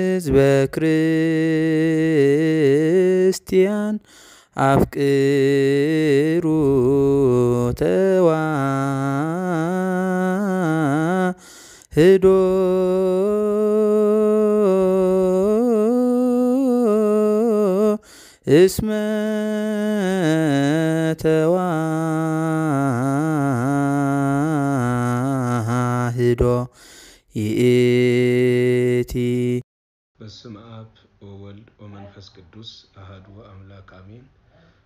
ህዝበ ክርስቲያን ኣፍቅሩ ተዋህዶ እስመ ተዋህዶ ይእቲ። በስመ አብ ወወልድ ወመንፈስ ቅዱስ አሐዱ አምላክ አሜን።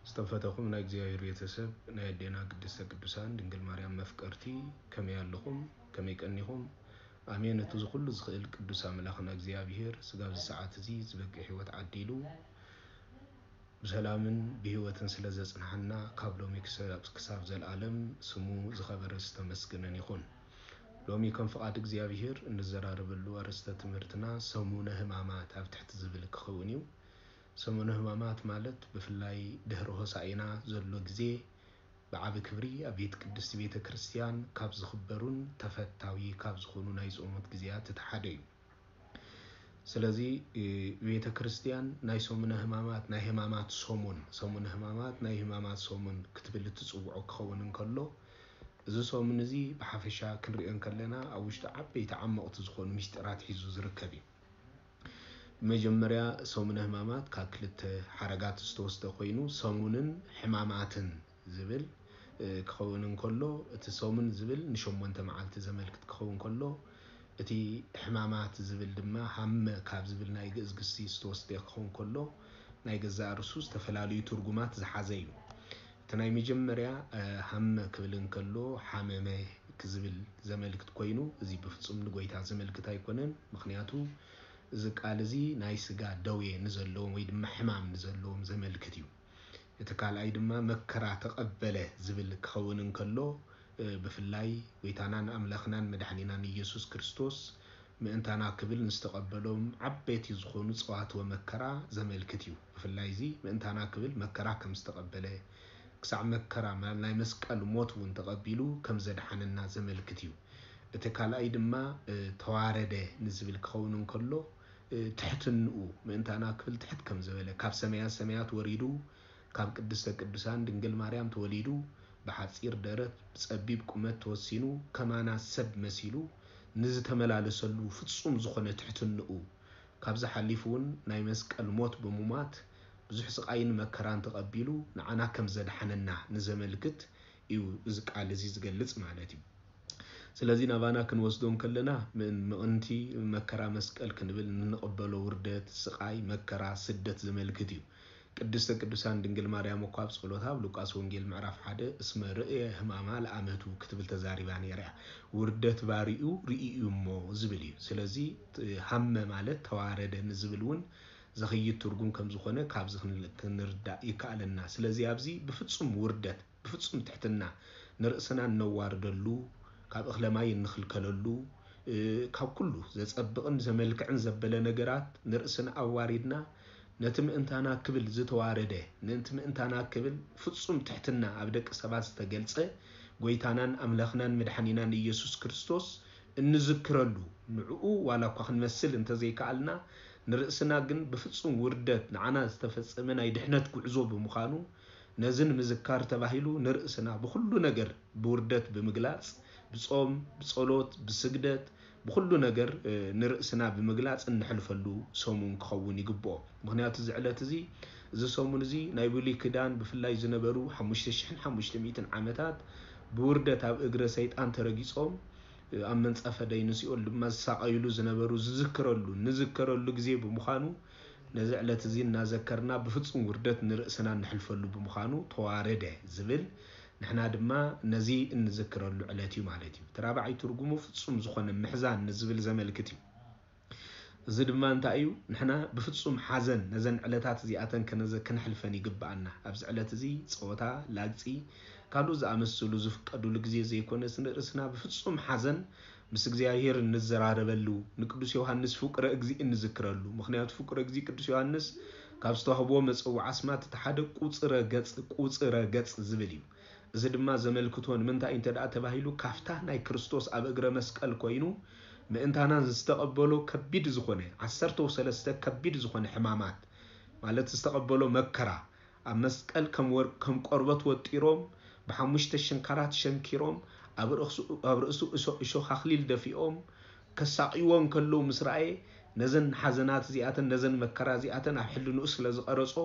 ዝተፈተኹም ናይ እግዚኣብሔር ቤተሰብ፣ ናይ ኣዴና ቅድስተ ቅዱሳን ድንግል ማርያም መፍቀርቲ፣ ከመይ ኣለኹም? ከመይ ቀኒኹም? ኣሜን። እቲ ዝኹሉ ዝኽእል ቅዱስ ኣምላኽና እግዚኣብሔር ስጋብ እዚ ሰዓት እዚ ዝበቅዕ ህይወት ዓዲሉ ብሰላምን ብህይወትን ስለ ዘጽንሓና ካብ ሎሚ ክሰ-፣ ክሳብ ዘለዓለም ስሙ ዝኸበረ ዝተመስገነን ይኹን። ሎሚ ከም ፍቓድ እግዚኣብሔር እንዘራረበሉ ኣርእስተ ትምህርትና ሰሙነ ሕማማት ኣብ ትሕቲ ዝብል ክኸውን እዩ። ሰሙነ ሕማማት ማለት ብፍላይ ድሕሪ ሆሳኢና ዘሎ ግዜ ብዓቢ ክብሪ ኣብ ቤት ቅድስቲ ቤተ ክርስቲያን ካብ ዝኽበሩን ተፈታዊ ካብ ዝኾኑ ናይ ጾሞት ግዜያት እቲ ሓደ እዩ። ስለዚ፣ እ፣ ቤተ ክርስቲያን ናይ ሰሙነ ሕማማት፣ ናይ ሕማማት ሰሙን፣ ሰሙነ ሕማማት ናይ ሕማማት ሰሙን ክትብል እትጽውዖ ክኸውን እንከሎ፣ እዚ ሰሙን እዚ ብሓፈሻ ክንሪኦ እንከለና ኣብ ውሽጡ ዓበይቲ ዓመቕቲ ዝኾኑ ምስጢራት ሒዙ ዝርከብ እዩ። ብመጀመርያ ሰሙነ ሕማማት ካብ ክልተ ሓረጋት ዝተወስደ ኮይኑ ሰሙንን ሕማማትን ዝብል፣ እ፣ ክኸውን እንከሎ፣ እቲ ሰሙን ዝብል ንሸሞንተ መዓልቲ ዘመልክት ክኸውን ከሎ፣ እቲ ሕማማት ዝብል ድማ ሃመ ካብ ዝብል ናይ ግእዝ ግሲ ዝተወስደ ክኸውን ከሎ፣ ናይ ገዛእ ርእሱ ዝተፈላለዩ ትርጉማት ዝሓዘ እዩ። እቲ ናይ መጀመርያ፣ እ፣ ሃመ ክብል እንከሎ ሓመመ ክዝብል ዘመልክት ኮይኑ፣ እዚ ብፍጹም ንጎይታ ዘመልክት ኣይኮነን። ምኽንያቱ እዚ ቃል እዚ ናይ ስጋ ደዌ ንዘለዎም ወይ ድማ ሕማም ንዘለዎም ዘመልክት እዩ። እቲ ካልኣይ ድማ መከራ ተቐበለ ዝብል ክኸውን እንከሎ፣ እ፣ ብፍላይ ጎይታናን ኣምላኽናን መድሓኒናን ኢየሱስ ክርስቶስ ምእንታና ክብል ንዝተቐበሎም ዓበይቲ ዝኾኑ ጸዋትወ መከራ ዘመልክት እዩ። ብፍላይ እዚ ምእንታና ክብል መከራ ከም ዝተቐበለ፣ ክሳዕ መከራ፣ ማ-፣ ናይ መስቀል ሞት እውን ተቐቢሉ ከም ዘድሓነና ዘመልክት እዩ። እቲ ካልኣይ ድማ፣ እ፣ ተዋረደ ንዝብል ክኸውን እንከሎ፣ እ፣ ትሕትንኡ፣ ምእንታና ክብል ትሕት ከም ዝበለ፣ ካብ ሰማያት ሰማያት ወሪዱ፣ ካብ ቅድስተ ቅዱሳን ድንግል ማርያም ተወሊዱ፣ ብሓጺር ደረት፣ ብጸቢብ ቁመት ተወሲኑ፣ ከማና ሰብ መሲሉ ንዝተመላለሰሉ ፍጹም ዝኾነ ትሕትንኡ፣ ካብዚ ሓሊፉ እውን ናይ መስቀል ሞት ብምሟት፣ ብዙሕ ስቓይን መከራን ተቐቢሉ፣ ንዓና ከም ዘድሓነና ንዘመልክት እዩ እዚ ቃል እዚ ዝገልጽ ማለት እዩ። ስለዚ ናባና ክንወስዶ እንከለና፣ ምእን-፣ ምእንቲ መከራ መስቀል ክንብል እንቕበሎ ውርደት፣ ስቓይ፣ መከራ፣ ስደት ዘመልክት እዩ። ቅድስተ ቅዱሳን ድንግል ማርያም እኳ ኣብ ጸሎታ ኣብ ሉቃስ ወንጌል ምዕራፍ ሓደ "እስመ ርእየ ሕማማ ለአመቱ" ክትብል ተዛሪባ ነይራ እያ። ውርደት ባሪኡ ርእዩ እዩ እሞ ዝብል እዩ። ስለዚ፣ ት-፣ ሃመ ማለት ተዋረደ ንዝብል እውን ዘኽይድ ትርጉም ከም ዝኾነ ካብዚ ክን-፣ ክንርዳእ ይከኣለና። ስለዚ ኣብዚ ብፍጹም ውርደት፣ ብፍጹም ትሕትና ንርእስና እነዋርደሉ፣ ካብ እኽለ ማይ እንኽልከለሉ፣ እ፣ ካብ ኩሉ ዘጸብቕን ዘመልክዕን ዘበለ ነገራት ንርእስና ኣዋሪድና፣ ነቲ ምእንታና ክብል ዝተዋረደ፣ ነቲ ምእንታና ክብል ፍጹም ትሕትና ኣብ ደቂ ሰባት ዝተገልጸ ጎይታናን ኣምላኽናን መድሓኒናን ኢየሱስ ክርስቶስ እንዝክረሉ፣ ንዕኡ ዋላ እኳ ክንመስል እንተዘይከኣልና፣ ንርእስና ግን ብፍጹም ውርደት ንዓና ዝተፈጸመ ናይ ድሕነት ጉዕዞ ብምዃኑ፣ ነዚ ንምዝካር ተባሂሉ ንርእስና ብኹሉ ነገር ብውርደት ብምግላጽ፣ ብጾም፣ ብጸሎት፣ ብስግደት፣ ብኹሉ ነገር፣ እ፣ ንርእስና ብምግላጽ እንሕልፈሉ ሰሙን ክኸውን ይግብኦ። ምኽንያቱ እዚ ዕለት እዚ፣ እዚ ሰሙን እዚ ናይ ብሉይ ኪዳን ብፍላይ ዝነበሩ ሓሙሽተ ሽሕን ሓሙሽተ ሚእትን ዓመታት ብውርደት ኣብ እግረ ሰይጣን ተረጊጾም፣ እ፣ ኣብ መንጸፈ ደይን ሲኦል ድማ ዝሳቐዩሉ ዝነበሩ ዝዝክረሉ፣ ንዝከረሉ ግዜ ብምዃኑ፣ ነዚ ዕለት እዚ እናዘከርና ብፍጹም ውርደት ንርእስና እንሕልፈሉ ብምዃኑ ተዋረደ ዝብል፣ ንሕና ድማ ነዚ እንዝክረሉ ዕለት እዩ ማለት እዩ። እቲ ራብዓይ ትርጉሙ ፍጹም ዝኾነ ምሕዛን ንዝብል ዘመልክት እዩ። እዚ ድማ እንታይ እዩ? ንሕና ብፍጹም ሓዘን ነዘን ዕለታት እዚኣተን ከነዘ-፣ ከነሕልፈን ይግብኣና። ኣብዚ ዕለት እዚ ጸወታ፣ ላግጺ፣ ካልኦት ዝኣመሰሉ ዝፍቀዱሉ ግዜ ዘይኮነስ፣ ንርእስና ብፍጹም ሓዘን ምስ እግዚኣብሔር እንዘራረበሉ፣ ንቅዱስ ዮሃንስ ፍቁረ እግዚእ እንዝክረሉ። ምኽንያቱ ፍቁረ እግዚእ ቅዱስ ዮሃንስ ካብ ዝተዋህቦ መጸውዒ ኣስማት እቲ ሓደ ቁጽረ ገጽ፣ ቁጽረ ገጽ ዝብል እዩ። እዚ ድማ ዘመልክቶ ንምንታይ እንተ ደኣ ተባሂሉ፣ ካፍታ ናይ ክርስቶስ ኣብ እግረ መስቀል ኮይኑ ምእንታና ዝተቐበሎ ከቢድ ዝኾነ፣ ዓሰርተ ሰለስተ ከቢድ ዝኾነ ሕማማት፣ ማለት ዝተቐበሎ መከራ፣ ኣብ መስቀል ከም ወር-፣ ከም ቆርበት ወጢሮም፣ ብሓሙሽተ ሽንካራት ሸንኪሮም፣ ኣብ ርእሱ፣ ኣብ ርእሱ እሾ-፣ እሾኽ ኣኽሊል ደፊኦም፣ ከሳቕይዎ እንከለዉ ምስ ረኣየ፣ ነዘን ሓዘናት እዚኣተን፣ ነዘን መከራ እዚኣተን ኣብ ሕልንኡ ስለ ዝቐረጾ፣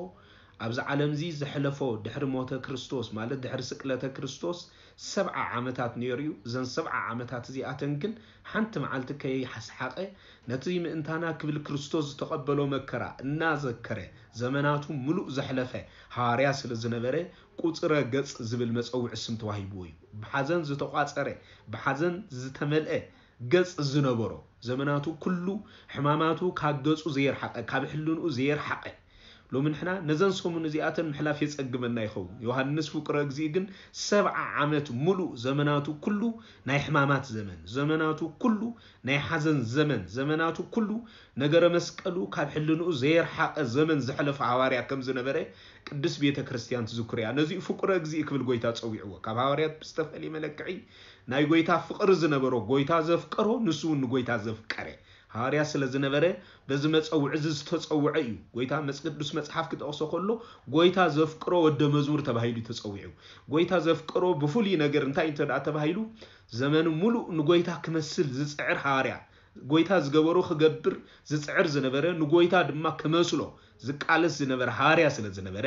ኣብዚ ዓለምዚ ዘሕለፎ ድሕሪ ሞተ ክርስቶስ፣ ማለት ድሕሪ ስቅለተ ክርስቶስ፣ ሰብዓ ዓመታት ነይሩ እዩ። እዘን ሰብዓ ዓመታት እዚኣተን ግን ሓንቲ መዓልቲ ከይሓስሓቐ፣ ነቲ ምእንታና ክብል ክርስቶስ ዝተቐበሎ መከራ እናዘከረ፣ ዘመናቱ ምሉእ ዘሕለፈ ሃዋርያ ስለ ዝነበረ፣ ቁጽረ ገጽ ዝብል መጸውዒ ስም ተዋሂብዎ እዩ። ብሓዘን ዝተቋጸረ፣ ብሓዘን ዝተመልአ ገጽ ዝነበሮ፣ ዘመናቱ ኩሉ ሕማማቱ ካብ ገጹ ዘየርሓቐ፣ ካብ ሕልንኡ ዘየርሓቐ፣ ሎሚ ንሕና ነዘን ሰሙን እዚኣተን ምሕላፍ የጸግመና ይኸውን። ዮሃንስ ፍቁረ እግዚእ ግን ሰብዓ ዓመት ሙሉእ ዘመናቱ ኩሉ ናይ ሕማማት ዘመን፣ ዘመናቱ ኩሉ ናይ ሓዘን ዘመን፣ ዘመናቱ ኩሉ ነገረ መስቀሉ ካብ ሕልንኡ ዘየርሓቐ ዘመን ዘሕለፈ ሃዋርያ ከም ዝነበረ ቅድስት ቤተ ክርስቲያን ትዝክር እያ። ነዚኡ ፍቁረ እግዚእ ክብል ጎይታ ጸዊዕዎ። ካብ ሃዋርያት ብዝተፈልየ መለክዒ ናይ ጎይታ ፍቕሪ ዝነበሮ፣ ጎይታ ዘፍቀሮ፣ ንሱ እውን ንጎይታ ዘፍቀረ ሃዋርያ ስለ ዝነበረ፣ በዚ መጸውዒ እዚ ዝተጸውዐ እዩ። ጎይታ መጽ-፣ ቅዱስ መጽሓፍ ክጠቕሶ ከሎ፣ ጎይታ ዘፍቅሮ ወደ መዝሙር ተባሂሉ ተጸዊዑ። ጎይታ ዘፍቅሮ ብፍሉይ ነገር እንታይ እንተ ደኣ ተባሂሉ፣ ዘመኑ ሙሉእ ንጎይታ ክመስል ዝጽዕር ሃዋርያ፣ ጎይታ ዝገበሮ ክገብር ዝጽዕር ዝነበረ፣ ንጎይታ ድማ ክመስሎ ዝቃለስ ዝነበረ ሃዋርያ ስለ ዝነበረ፣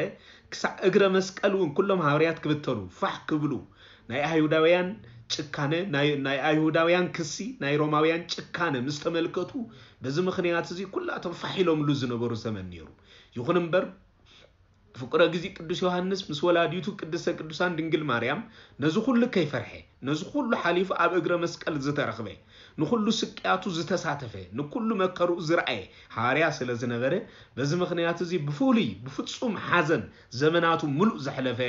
ክሳዕ እግረ መስቀል እውን ኩሎም ሃዋርያት ክብተኑ፣ ፋሕ ክብሉ፣ ናይ ኣይሁዳውያን ጭካነ፣ ናይ፣ ናይ ኣይሁዳውያን ክሲ፣ ናይ ሮማውያን ጭካነ ምስ ተመልከቱ፣ በዚ ምኽንያት እዚ ኩላቶም ፋሕ ኢሎምሉ ዝነበሩ ዘመን ነይሩ። ይኹን እምበር፣ ፍቁረ እግዚእ ቅዱስ ዮሃንስ ምስ ወላዲቱ ቅድስተ ቅዱሳን ድንግል ማርያም ነዚ ኩሉ ከይፈርሐ፣ ነዚ ኩሉ ሓሊፉ ኣብ እግረ መስቀል ዝተረኽበ፣ ንኹሉ ስቅያቱ ዝተሳተፈ፣ ንኩሉ መከርኡ ዝረኣየ ሃዋርያ ስለ ዝነበረ፣ በዚ ምኽንያት እዚ ብፍሉይ ብፍጹም ሓዘን ዘመናቱ ምሉእ ዘሕለፈ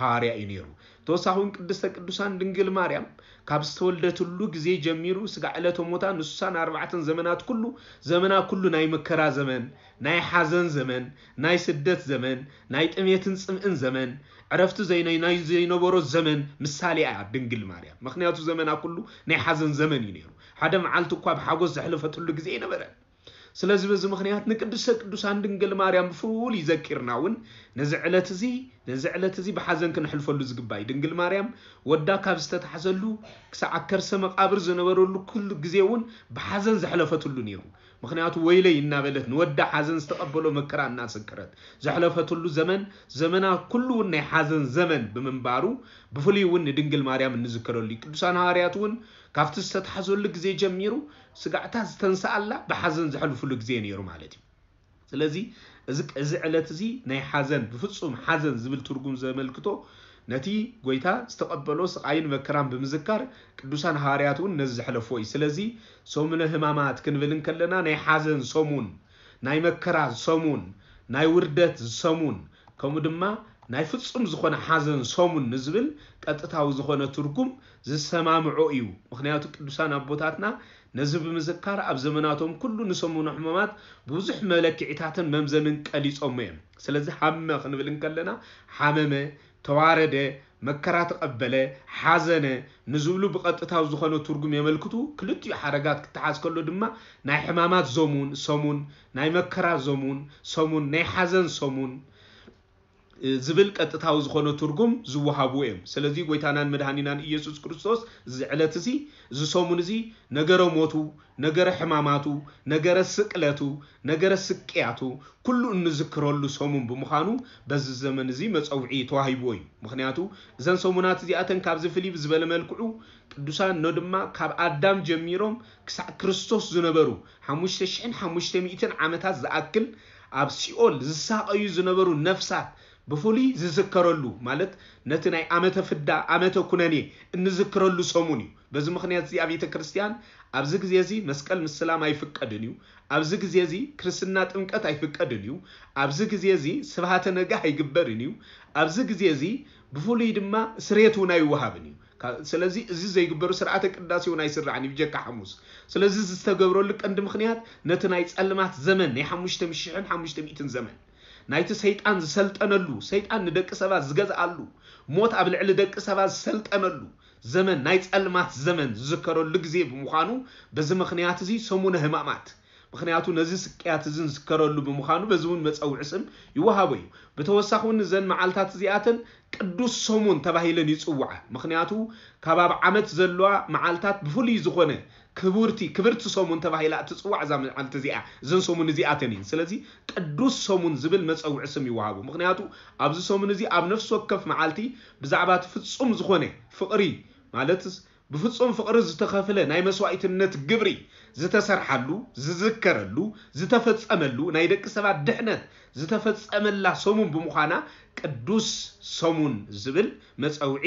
ሃዋርያ እዩ ነይሩ። ተወሳኺ እውን ቅድስተ ቅዱሳን ድንግል ማርያም ካብ ዝተወልደትሉ ግዜ ጀሚሩ ስጋዕ ዕለተ ሞታ ንስሳን ኣርባዕተን ዘመናት ኩሉ፣ ዘመና ኩሉ ናይ መከራ ዘመን፣ ናይ ሓዘን ዘመን፣ ናይ ስደት ዘመን፣ ናይ ጥሜትን ጽምእን ዘመን፣ ዕረፍቲ ዘይነይ-፣ ናይ ዘይነበሮ ዘመን ምሳሌ እያ ድንግል ማርያም። ምኽንያቱ ዘመና ኩሉ ናይ ሓዘን ዘመን እዩ ነይሩ። ሓደ መዓልቲ እኳ ብሓጎስ ዘሕለፈትሉ ግዜ ኣይነበረን። ስለዚ በዚ ምኽንያት ንቅድስተ ቅዱሳን ድንግል ማርያም ብፍሉይ ዘኪርና እውን ነዚ ዕለት እዚ፣ ነዚ ዕለት እዚ ብሓዘን ክንሕልፈሉ ዝግባእ እዩ። ድንግል ማርያም ወዳ ካብ ዝተታሕዘሉ ክሳዕ ኣብ ከርሰ መቃብር ዝነበረሉ ኩሉ ግዜ እውን ብሓዘን ዘሕለፈትሉ ነይሩ። ምኽንያቱ ወይለይ እናበለት ንወዳ ሓዘን ዝተቐበሎ መከራ እናዘከረት ዘሕለፈትሉ ዘመን፣ ዘመና ኩሉ እውን ናይ ሓዘን ዘመን ብምንባሩ ብፍሉይ እውን ንድንግል ማርያም እንዝከረሉ እዩ። ቅዱሳን ሃዋርያት እውን ካብቲ ዝተታሕዘሉ ግዜ ጀሚሩ ስጋዕታ ዝተንስኣላ ብሓዘን ዘሕልፉሉ ግዜ ነይሩ ማለት እዩ። ስለዚ እዚ፣ እዚ ዕለት እዚ ናይ ሓዘን፣ ብፍጹም ሓዘን ዝብል ትርጉም ዘመልክቶ ነቲ ጎይታ ዝተቐበሎ ስቓይን መከራን ብምዝካር ቅዱሳን ሃዋርያት እውን ነዚ ዘሕለፍዎ እዩ። ስለዚ ሰሙነ ሕማማት ክንብል እንከለና ናይ ሓዘን ሰሙን፣ ናይ መከራ ሰሙን፣ ናይ ውርደት ሰሙን፣ ከምኡ ድማ ናይ ፍጹም ዝኾነ ሓዘን ሰሙን ንዝብል ቀጥታዊ ዝኾነ ትርጉም ዝሰማምዖ እዩ። ምኽንያቱ ቅዱሳን ኣቦታትና ነዚ ብምዝካር ኣብ ዘመናቶም ኩሉ ንሰሙነ ሕማማት ብዙሕ መለክዒታትን መምዘንን ቀሊጾሞ እዮም። ስለዚ ሃመ ክንብል እንከለና ሓመመ፣ ተዋረደ፣ መከራ ተቐበለ፣ ሓዘነ ንዝብሉ ብቐጥታዊ ዝኾነ ትርጉም የመልክቱ። ክልቲኡ ሓረጋት ክተሓዝ ከሎ ድማ ናይ ሕማማት ዘሙን፣ ሰሙን፣ ናይ መከራ ዘሙን፣ ሰሙን፣ ናይ ሓዘን ሰሙን፣ እ፣ ዝብል ቀጥታዊ ዝኾነ ትርጉም ዝወሃቡ እዮም። ስለዚ ጎይታናን መድኃኒናን ኢየሱስ ክርስቶስ እዚ ዕለት እዚ፣ እዚ ሰሙን እዚ ነገረ ሞቱ፣ ነገረ ሕማማቱ፣ ነገረ ስቅለቱ፣ ነገረ ስቅያቱ ኩሉ እንዝክረሉ ሰሙን ብምዃኑ በዚ ዘመን እዚ መጸውዒ ተዋሂብዎ እዩ። ምኽንያቱ እዘን ሰሙናት እዚኣተን ካብዚ ፍልይ ብዝበለ መልክዑ ቅዱሳን ኖ ድማ ካብ ኣዳም ጀሚሮም ክሳዕ ክርስቶስ ዝነበሩ ሓሙሽተ ሽሕን ሓሙሽተ ሚእትን ዓመታት ዝኣክል ኣብ ሲኦል ዝሳቐዩ ዝነበሩ ነፍሳት ብፍሉይ ዝዝከረሉ፣ ማለት ነቲ ናይ ዓመተ ፍዳ፣ ዓመተ ኩነኔ እንዝክረሉ ሰሙን እዩ። በዚ ምኽንያት እዚ ኣብ ቤተ ክርስቲያን ኣብዚ ግዜ እዚ መስቀል ምስላም ኣይፍቀድን እዩ። ኣብዚ ግዜ እዚ ክርስትና ጥምቀት ኣይፍቀድን እዩ። ኣብዚ ግዜ እዚ ስብሃተ ነግህ ኣይግበርን እዩ። ኣብዚ ግዜ እዚ ብፍሉይ ድማ ስርየት እውን ኣይወሃብን እዩ። ካ-፣ ስለዚ እዚ ዘይግበሩ ስርዓተ ቅዳሴ እውን ኣይስራዕን እዩ ብጀካ ሓሙስ። ስለዚ እዚ ዝተገብረሉ ቀንዲ ምኽንያት ነቲ ናይ ጸልማት ዘመን ናይ ሓሙሽተ ሽሕን ሓሙሽተ ሚእትን ዘመን ናይቲ ሰይጣን ዝሰልጠነሉ፣ ሰይጣን ንደቂ ሰባት ዝገዝኣሉ፣ ሞት ኣብ ልዕሊ ደቂ ሰባት ዝሰልጠነሉ ዘመን፣ ናይ ጸልማት ዘመን ዝዝከረሉ ግዜ ብምዃኑ፣ በዚ ምኽንያት እዚ ሰሙነ ሕማማት፣ ምኽንያቱ ነዚ ስቅያት እዚ ዝዝከረሉ ብምዃኑ፣ በዚ እውን መጸውዒ ስም ይወሃቦ እዩ። ብተወሳኺ እውን እዘን መዓልታት እዚኣተን ቅዱስ ሰሙን ተባሂለን ይጽውዓ። ምኽንያቱ ካብ ኣብ ዓመት ዘለዋ መዓልታት ብፍሉይ ዝኾነ ክቡርቲ፣ ክብርቲ ሰሙን ተባሂላ እትጽዋዕ እዛ መዓልቲ እዚኣ፣ እዘን ሰሙን እዚኣተን እየን። ስለዚ ቅዱስ ሰሙን ዝብል መጸውዒ ስም ይወሃቦ። ምኽንያቱ ኣብዚ ሰሙን እዚ ኣብ ነፍሲ ወከፍ መዓልቲ ብዛዕባ እቲ ፍጹም ዝኾነ ፍቕሪ፣ ማለትስ ብፍጹም ፍቕሪ ዝተኸፍለ ናይ መስዋዕትነት ግብሪ ዝተሰርሓሉ፣ ዝዝከረሉ፣ ዝተፈጸመሉ፣ ናይ ደቂ ሰባት ድሕነት ዝተፈጸመላ ሰሙን ብምዃና ቅዱስ ሰሙን ዝብል መጸውዒ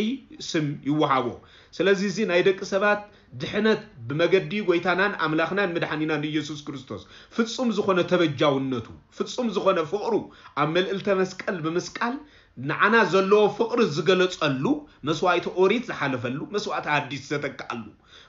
ስም ይወሃቦ። ስለዚ እዚ ናይ ደቂ ሰባት ድሕነት ብመገዲ ጎይታናን ኣምላኽናን መድሓኒናን ኢየሱስ ክርስቶስ ፍጹም ዝኾነ ተበጃውነቱ፣ ፍጹም ዝኾነ ፍቕሩ ኣብ መልዕልተ መስቀል ብምስቃል ንዓና ዘለዎ ፍቕሪ ዝገለጸሉ፣ መስዋዕቲ ኦሪት ዝሓለፈሉ፣ መስዋዕቲ ሓዲስ ዝተተክኣሉ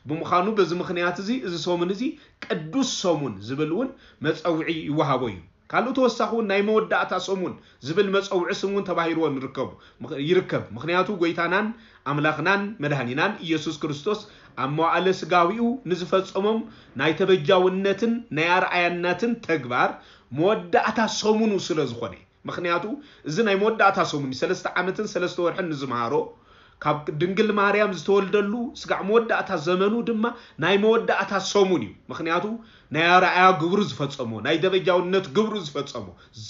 ብምዃኑ፣ በዚ ምኽንያት እዚ፣ እዚ ሰሙን እዚ ቅዱስ ሰሙን ዝብል እውን መጸውዒ ይወሃቦ እዩ። ካልእ ተወሳኺ እውን ናይ መወዳእታ ሰሙን ዝብል መጸውዒ ስም እውን ተባሂርዎ ንርከቡ-፣ ምኽ-፣ ይርከብ። ምኽንያቱ ጎይታናን ኣምላኽናን መድሃኒናን ኢየሱስ ክርስቶስ ኣብ መዋዕለ ስጋዊኡ ንዝፈጸሞም ናይ ተበጃውነትን ናይ ኣርኣያነትን ተግባር መወዳእታ ሰሙኑ ስለ ዝኾነ፣ ምኽንያቱ እዚ ናይ መወዳእታ ሰሙን እዩ። ሰለስተ ዓመትን ሰለስተ ወርሕን ንዝመሃሮ፣ ካብ ድንግል ማርያም ዝተወልደሉ ስጋዕ መወዳእታ ዘመኑ ድማ ናይ መወዳእታ ሰሙን እዩ። ምኽንያቱ ናይ ኣርኣያ ግብሩ ዝፈጸሞ፣ ናይ ደረጃውነት ግብሩ ዝፈጸሞ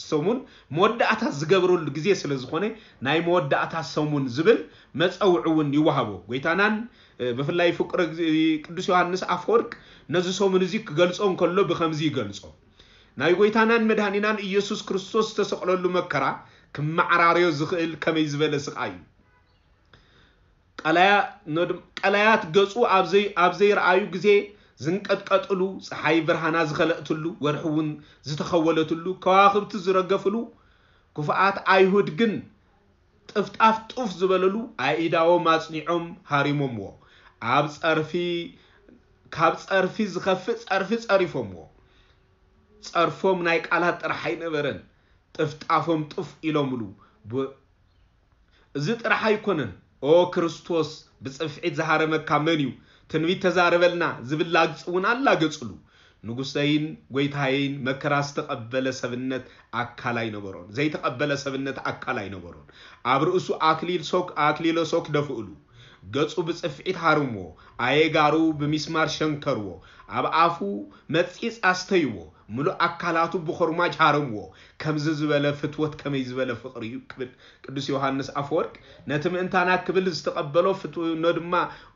ሰሙን መወዳእታ ዝገብረሉ ግዜ ስለ ዝኾነ ናይ መወዳእታ ሰሙን ዝብል መጸውዒ እውን ይወሃቦ። ጎይታናን፣ እ፣ ብፍላይ ፍቁረ እግዚ-፣ ቅዱስ ዮሃንስ ኣፈወርቅ ነዚ ሰሙን እዚ ክገልጾ እንከሎ ብኸምዚ ይገልጾ። ናይ ጎይታናን መድሃኒናን ኢየሱስ ክርስቶስ ዝተሰቕለሉ መከራ ክመዓራረዮ ዝኽእል ከመይ ዝበለ ስቓይ እዩ። ቀላያ-፣ ኖድ-፣ ቀላያት ገጹ ኣብ ዘይ-፣ ኣብ ዘይረኣዩ ግዜ ዝንቀጥቀጥሉ፣ ጸሓይ ብርሃና ዝኸለእትሉ፣ ወርሒ እውን ዝተኸወለትሉ፣ ከዋኽብቲ ዝረገፍሉ፣ ክፉኣት ኣይሁድ ግን ጥፍጣፍ ጡፍ ዝበለሉ፣ ኣኢዳዎም ኣጽኒዖም ሃሪሞምዎ። ኣብ ጸርፊ፣ ካብ ጸርፊ ዝኸፍእ ጸርፊ ጸሪፎምዎ። ጸርፎም ናይ ቃላት ጥራሕ ኣይነበረን፣ ጥፍጣፎም ጡፍ ኢሎምሉ። ብ-፣ እዚ ጥራሕ ኣይኮነን፣ "ኦ ክርስቶስ፣ ብጽፍዒት ዝሃረመካ መን እዩ? ትንቢት ተዛረበልና" ዝብል ላግጺ እውን ኣላገጽሉ። ንጉሰይን ጎይታየይን መከራ ዝተቐበለ ሰብነት ኣካል ኣይነበሮን፣ ዘይተቐበለ ሰብነት ኣካል ኣይነበሮን። ኣብ ርእሱ ኣክሊል ሶክ፣ ኣክሊለ ሶክ ደፍእሉ። ገጹ ብጽፍዒት ሃርምዎ፣ ኣየጋሩ ብሚስማር ሸንከርዎ፣ ኣብ ኣፉ መጺጽ ኣስተይዎ፣ ምሉእ ኣካላቱ ብኾርማጅ ሃረምዎ። ከምዚ ዝበለ ፍትወት ከመይ ዝበለ ፍቕሪ እዩ ክብል ቅዱስ ዮሃንስ ኣፈወርቅ ነቲ ምእንታና ክብል ዝተቐበሎ ፍትኖ ድማ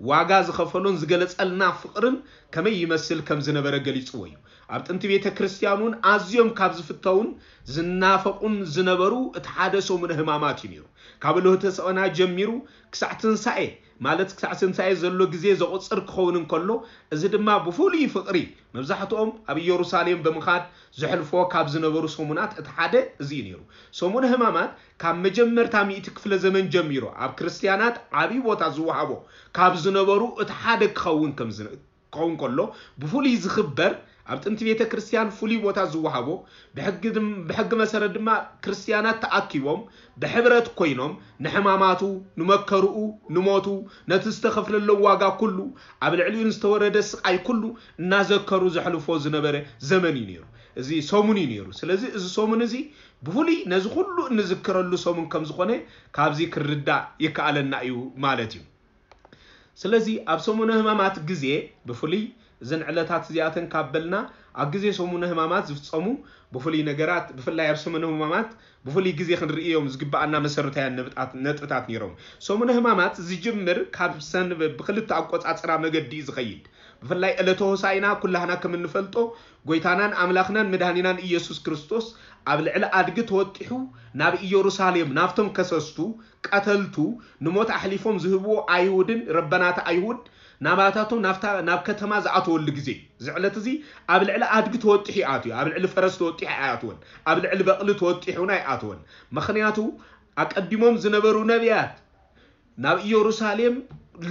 ዋጋ ዝኸፈሎን ዝገለጸልና ፍቕርን ከመይ ይመስል ከም ዝነበረ ገሊጽዎ እዩ። ኣብ ጥንቲ ቤተ ክርስቲያን እውን ኣዝዮም ካብ ዝፍተውን ዝናፈቑን ዝነበሩ እቲ ሓደ ሰሙነ ሕማማት እዩ ነይሩ። ካብ እሎህተ ሰቐና ጀሚሩ ክሳዕ ትንሳኤ፣ ማለት ክሳዕ ትንሳኤ ዘሎ ግዜ ዘቑጽር ክኸውን እንከሎ፣ እዚ ድማ ብፍሉይ ፍቕሪ መብዛሕትኦም ኣብ ኢየሩሳሌም ብምኻድ ዘሕልፎ ካብ ዝነበሩ ሰሙናት እቲ ሓደ እዚ እዩ ነይሩ። ሰሙነ ሕማማት ካብ መጀመርታ ሚእቲ ክፍለ ዘመን ጀሚሩ ኣብ ክርስትያናት ዓብዪ ቦታ ዝወሃቦ ካብ ዝነበሩ እቲ ሓደ ክኸውን ከም ዝን-፣ ክኸውን ከሎ፣ ብፍሉይ ዝኽበር፣ ኣብ ጥንቲ ቤተ ክርስቲያን ፍሉይ ቦታ ዝወሃቦ፣ ብሕጊ ድም-፣ ብሕጊ መሰረት ድማ ክርስትያናት ተኣኪቦም ብሕብረት ኮይኖም ንሕማማቱ፣ ንመከርኡ፣ ንሞቱ፣ ነቲ ዝተኸፍለሎም ዋጋ ኩሉ፣ ኣብ ልዕሊኡ ንዝተወረደ ስቓይ ኩሉ እናዘከሩ ዘሕልፎ ዝነበረ ዘመን እዩ ነይሩ። እዚ ሰሙን እዩ ነይሩ። ስለዚ እዚ ሰሙን እዚ ብፍሉይ ነዚ ኩሉ እንዝክረሉ ሰሙን ከም ዝኾነ ካብዚ ክርዳእ ይከኣለና እዩ ማለት እዩ። ስለዚ ኣብ ሰሙነ ሕማማት ግዜ ብፍሉይ እዘን ዕለታት እዚኣተን ካብ በልና፣ ኣብ ግዜ ሰሙነ ሕማማት ዝፍጸሙ ብፍሉይ ነገራት፣ ብፍላይ ኣብ ሰሙነ ሕማማት ብፍሉይ ግዜ ክንርእዮም ዝግብኣና መሰረታውያን ነብጣት-፣ ነጥብታት ነይሮም። ሰሙነ ሕማማት ዝጅምር ካብ ሰንበ-፣ ብክልተ ኣቆጻጽራ መገዲ እዩ ዝኸይድ። ብፍላይ ዕለተ ሆሳዕና ኩላህና ከም እንፈልጦ፣ ጎይታናን ኣምላኽናን መድኃኒናን ኢየሱስ ክርስቶስ ኣብ ልዕሊ ኣድጊ ተወጢሑ ናብ ኢየሩሳሌም፣ ናብቶም ከሰስቱ፣ ቀተልቱ፣ ንሞት ኣሕሊፎም ዝህብዎ ኣይሁድን ረበናት ኣይሁድ ናባታቶም ናብታ፣ ናብ ከተማ ዝኣተወሉ ግዜ እዩ። እዚ ዕለት እዚ ኣብ ልዕሊ ኣድጊ ተወጢሑ ይኣትዩ፣ ኣብ ልዕሊ ፈረስ ተወጢሑ ኣይኣትወን፣ ኣብ ልዕሊ በቕሊ ተወጢሑ እውን ኣይኣትወን። ምኽንያቱ ኣቀዲሞም ዝነበሩ ነቢያት ናብ ኢየሩሳሌም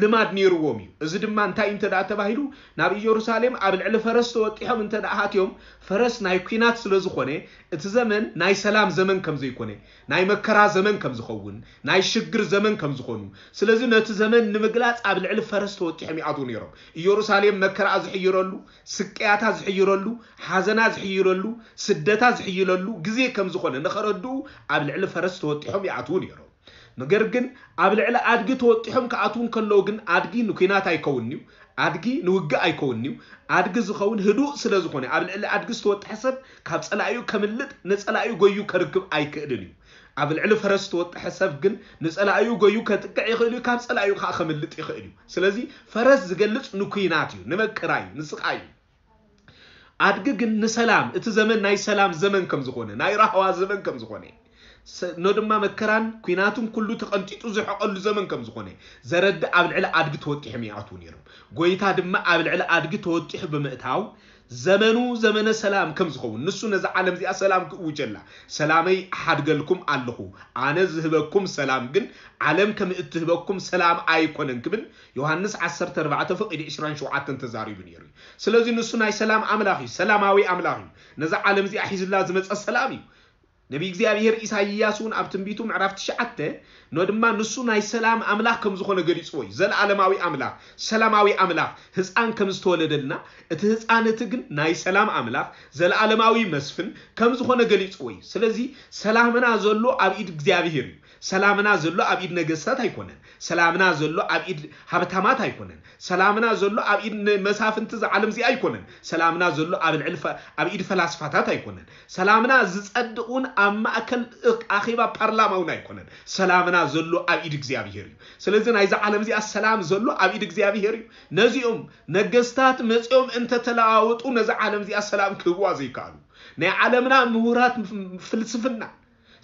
ልማድ ነይርዎም እዩ። እዚ ድማ እንታይ እንተ ደኣ ተባሂሉ፣ ናብ ኢየሩሳሌም ኣብ ልዕሊ ፈረስ ተወጢሖም እንተ ደኣ ሃትዮም፣ ፈረስ ናይ ኲናት ስለ ዝኾነ፣ እቲ ዘመን ናይ ሰላም ዘመን ከም ዘይኮነ፣ ናይ መከራ ዘመን ከም ዝኸውን፣ ናይ ሽግር ዘመን ከም ዝኾኑ፣ ስለዚ ነቲ ዘመን ንምግላጽ ኣብ ልዕሊ ፈረስ ተወጢሖም ይኣትዉ ነይሮም። ኢየሩሳሌም መከራኣ ዝሕይረሉ፣ ስቅያታ ዝሕይረሉ፣ ሓዘና ዝሕይረሉ፣ ስደታ ዝሕይለሉ ግዜ ከም ዝኾነ ንኸረድኡ ኣብ ልዕሊ ፈረስ ተወጢሖም ይኣትዉ ነይሮም። ነገር ግን ኣብ ልዕሊ ኣድጊ ተወጢሖም ክኣትዉ እንከለዉ ግን ኣድጊ ንኲናት ኣይከውንን'ዩ፣ ኣድጊ ንውግእ ኣይከውንን'ዩ። ኣድጊ ዝኸውን ህዱእ ስለ ዝኾነ ኣብ ልዕሊ ኣድጊ ዝተወጥሐ ሰብ ካብ ጸላኢኡ ከምልጥ ንጸላኢኡ ጎዩ ከርክብ ኣይክእልን እዩ። ኣብ ልዕሊ ፈረስ ዝተወጥሐ ሰብ ግን ንጸላኢኡ ጎዩ ከጥቅዕ ይኽእል እዩ፣ ካብ ጸላኢኡ ከዓ ከምልጥ ይኽእል እዩ። ስለዚ ፈረስ ዝገልጽ ንኲናት እዩ፣ ንመከራ እዩ፣ ንስቓይ እዩ። ኣድጊ ግን ንሰላም፣ እቲ ዘመን ናይ ሰላም ዘመን ከም ዝኾነ፣ ናይ ራህዋ ዘመን ከም ዝኾነ፣ ኖ ድማ መከራን ኲናትን ኩሉ ተቐንጢጡ ዝሕቐሉ ዘመን ከም ዝኾነ ዘረድእ ኣብ ልዕሊ ኣድጊ ተወጢሖም ይኣትዉ ነይሮም። ጎይታ ድማ ኣብ ልዕሊ ኣድጊ ተወጢሑ ብምእታው ዘመኑ ዘመነ ሰላም ከም ዝኸውን፣ ንሱ ነዛ ዓለም እዚኣ ሰላም ክእውጀላ፣ ሰላመይ እሓድገልኩም ኣለኹ፣ ኣነ ዝህበኩም ሰላም ግን ዓለም ከም እትህበኩም ሰላም ኣይኮነን ክብል ዮሃንስ ዓሰርተ ኣርባዕተ ፍቕዲ ዕስራን ሸውዓተን ተዛሪቡ ነይሩ እዩ። ስለዚ ንሱ ናይ ሰላም ኣምላኽ እዩ፣ ሰላማዊ ኣምላኽ እዩ። ነዛ ዓለም እዚኣ ሒዙላ ዝመጸ ሰላም እዩ። ነቢ እግዚኣብሔር ኢሳይያስ እውን ኣብ ትንቢቱ ምዕራፍ ትሽዓተ ኖ ድማ ንሱ ናይ ሰላም ኣምላኽ ከም ዝኾነ ገሊጽዎ እዩ። ዘለዓለማዊ ኣምላኽ፣ ሰላማዊ ኣምላኽ ህፃን ከም ዝተወለደልና፣ እቲ ህፃን እቲ ግን ናይ ሰላም ኣምላኽ ዘለዓለማዊ መስፍን ከም ዝኾነ ገሊጽዎ እዩ። ስለዚ ሰላምና ዘሎ ኣብ ኢድ እግዚኣብሔር እዩ። ሰላምና ዘሎ ኣብ ኢድ ነገስታት ኣይኮነን። ሰላምና ዘሎ ኣብ ኢድ ሃብታማት ኣይኮነን። ሰላምና ዘሎ ኣብ ኢድ መሳፍንቲ እዛ ዓለም እዚኣ ኣይኮነን። ሰላምና ዘሎ ኣብ ልዕሊ ኣብ ኢድ ፈላስፋታት ኣይኮነን። ሰላምና ዝጸድቕ እውን ኣብ ማእከል ኣኼባ ፓርላማ እውን ኣይኮነን። ሰላምና ዘሎ ኣብ ኢድ እግዚኣብሔር እዩ። ስለዚ ናይዛ ዓለም እዚኣ ሰላም ዘሎ ኣብ ኢድ እግዚኣብሔር እዩ። ነዚኦም ነገስታት መጺኦም እንተተለዋወጡ ነዛ ዓለም እዚኣ ሰላም ክህብዋ ዘይከኣሉ፣ ናይ ዓለምና ምሁራት ፍልስፍና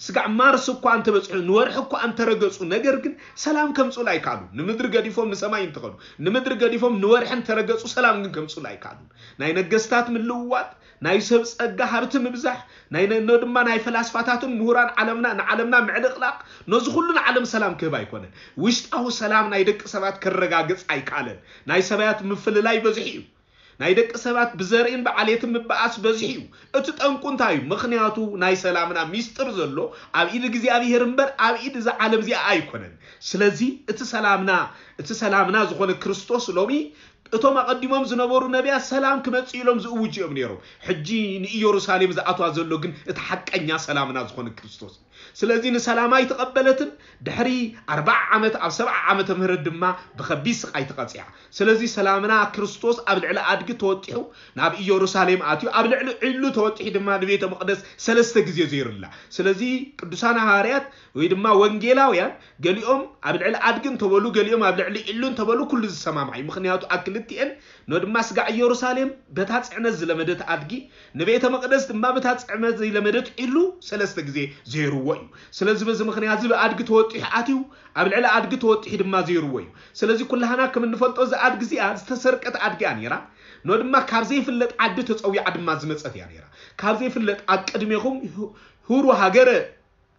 ስጋዕ ማርስ እኳ እንተበጽሑ፣ ንወርሒ እኳ እንተረገጹ፣ ነገር ግን ሰላም ከምጽኡላ ኣይከኣሉ። ንምድሪ ገዲፎም ንሰማይ እንተኸዱ፣ ንምድሪ ገዲፎም ንወርሒ እንተረገጹ፣ ሰላም ግን ከምጽኡላ ኣይከኣሉ። ናይ ነገስታት ምልውዋጥ፣ ናይ ሰብ ጸጋ ሃብቲ ምብዛሕ፣ ናይ ነ- ኖ ድማ ናይ ፈላስፋታትን ምሁራን ዓለምና ንዓለምና ምዕልቕላቕ፣ ነዚ ኩሉ ንዓለም ሰላም ክህብ ኣይኮነን። ውሽጣዊ ሰላም ናይ ደቂ ሰባት ከረጋግጽ ኣይከኣለን። ናይ ሰብያት ምፍልላይ በዝሒ እዩ። ናይ ደቂ ሰባት ብዘርእን ብዓሌትን ምበኣስ በዝሒ እዩ። እቲ ጠንቁ እንታይ እዩ? ምኽንያቱ ናይ ሰላምና ሚስጥር ዘሎ ኣብ ኢድ እግዚኣብሔር እምበር ኣብ ኢድ እዛ ዓለም እዚኣ ኣይኮነን። ስለዚ እቲ ሰላምና እቲ ሰላምና ዝኾነ ክርስቶስ ሎሚ እቶም ኣቐዲሞም ዝነበሩ ነቢያት ሰላም ክመጽእ ኢሎም ዝእውጁ እዮም ነይሮም። ሕጂ ንኢየሩሳሌም ዝኣትዋ ዘሎ ግን እቲ ሓቀኛ ሰላምና ዝኾነ ክርስቶስ እዩ። ስለዚ ንሰላማ ኣይተቐበለትን። ድሕሪ ኣርብዓ ዓመት ኣብ ሰብዓ ዓመተ ምህረት ድማ ብኸቢድ ስቓይ ተቐጺዓ። ስለዚ ሰላምና ክርስቶስ ኣብ ልዕሊ ኣድጊ ተወጢሑ ናብ ኢየሩሳሌም ኣትዩ፣ ኣብ ልዕሊ ዒሉ ተወጢሑ ድማ ንቤተ መቕደስ ሰለስተ ግዜ ዘይሩላ። ስለዚ ቅዱሳን ሃዋርያት ወይ ድማ ወንጌላውያን ገሊኦም ኣብ ልዕሊ ኣድጊ እንተበሉ፣ ገሊኦም ኣብ ልዕሊ ዒሉ እንተበሉ ኩሉ ዝሰማማዕ እዩ። ምኽንያቱ ኣብ ክልቲኤን ኖ ድማ ስጋዕ ኢየሩሳሌም በታ ጽዕነት ዝለመደት ኣድጊ፣ ንቤተ መቕደስ ድማ በታ ጽዕነት ዘይለመደት ዒሉ ሰለስተ ግዜ ዘይርዎ እዩ። ስለዚ በዚ ምኽንያት እዚ ብኣድጊ ተወጢሑ ኣትዩ፣ ኣብ ልዕሊ ኣድጊ ተወጢሑ ድማ ዘይርዎ እዩ። ስለዚ ኩላህና ከም እንፈልጦ እዚ ኣድጊ እዚኣ ዝተሰርቀት ኣድጊ እያ ነይራ። ኖ ድማ ካብ ዘይፍለጥ ዓዲ ተጸዊዓ ድማ ዝመጸት እያ ነይራ። ካብ ዘይፍለጥ ኣብ ቅድሜኹም ሁ- ሁሩ ሃገረ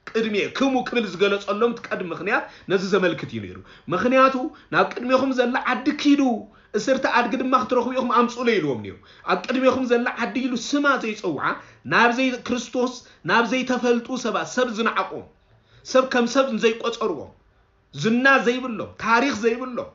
ቅድሜ ክሙ ክብል ዝገለጸሎም እቲ ቀድሚ ምኽንያት ነዚ ዘመልክት እዩ ነይሩ። ምኽንያቱ ናብ ቅድሜኹም ዘላ ዓዲ ኪዱ፣ እስርቲ ኣድጊ ድማ ክትረኽቡ ኢኹም ኣምጽኡለይ ኢልዎም ነይሩ። ኣብ ቅድሜኹም ዘላ ዓዲ ኢሉ ስማ ዘይጸውዓ፣ ናብ ዘይ ክርስቶስ ናብ ዘይተፈልጡ ሰባት፣ ሰብ ዝነዓቖም፣ ሰብ ከም ሰብ ዘይቆጸርዎም፣ ዝና ዘይብሎም፣ ታሪኽ ዘይብሎም፣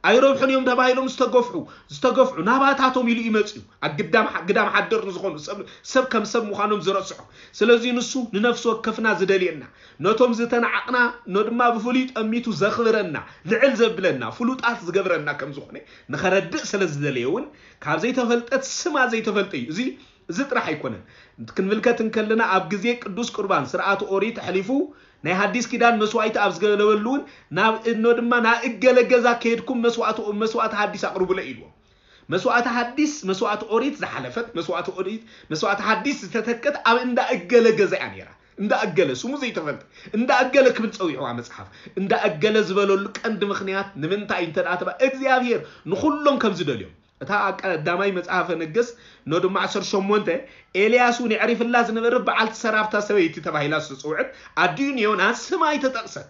ኣይረብሑን እዮም ተባሂሎም ዝተገፍሑ ዝተገፍሑ ናባታቶም ኢሉ ይመጽ እዩ። ኣብ ግዳም ግዳም ሓደር ንዝኾኑ ሰብ ሰብ ከም ሰብ ምዃኖም ዝረስዖ። ስለዚ ንሱ ንነፍሲ ወከፍና ዝደልየና፣ ነቶም ዝተናዓቕና ኖ ድማ ብፍሉይ ጠሚቱ ዘኽብረና፣ ልዕል ዘብለና፣ ፍሉጣት ዝገብረና ከም ዝኾነ ንኸረድእ ስለ ዝደለየ እውን ካብ ዘይተፈልጠት ስማ ዘይተፈልጠ እዩ። እዚ እዚ ጥራሕ ኣይኮነን። ክንምልከት እንከለና ኣብ ግዜ ቅዱስ ቁርባን ስርዓት ኦሪት ኣሕሊፉ ናይ ሓዲስ ኪዳን መስዋእቲ ኣብ ዝገለበሉ እውን ናብ እኖ ድማ ናብ እገለ ገዛ ከይድኩም መስዋእቲ መስዋእቲ ሓዲስ ኣቕርቡለ ኢልዎም። መስዋእቲ ሓዲስ መስዋእቲ ኦሪት ዝሓለፈት መስዋእቲ ኦሪት መስዋእቲ ሓዲስ ዝተተከት ኣብ እንዳ እገለ ገዛ እያ ነይራ። እንዳ እገለ ስሙ ዘይተፈልጠ እንዳ እገለ ክብል ጸዊዕዋ መጽሓፍ። እንዳ እገለ ዝበለሉ ቀንዲ ምኽንያት ንምንታይ እንተ ደኣ ተባ እግዚኣብሔር ንኹሎም ከም ዝደልዮም እታ ቀዳማይ መጽሓፈ ነገስት ኖ ድማ ዓሰርተ ሸሞንተ ኤልያስ እውን የዕሪፍላ ዝነበረ በዓልቲ ሰራብታ ሰበይቲ ተባሂላ ዝተፅውዕት ኣዲኡ ንዮናስ ስማ ኣይተጠቕሰት።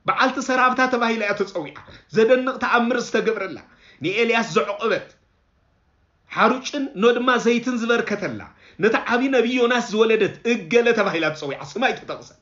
በዓልቲ ሰራብታ ተባሂላ እያ ተጸዊዓ። ዘደንቕ ተኣምር ዝተገብረላ፣ ንኤልያስ ዘዕቆበት፣ ሓሩጭን ኖ ድማ ዘይትን ዝበርከተላ፣ ነቲ ዓቢ ነቢይ ዮናስ ዝወለደት እገለ ተባሂላ ተጸዊዓ፣ ስማ ኣይተጠቕሰን።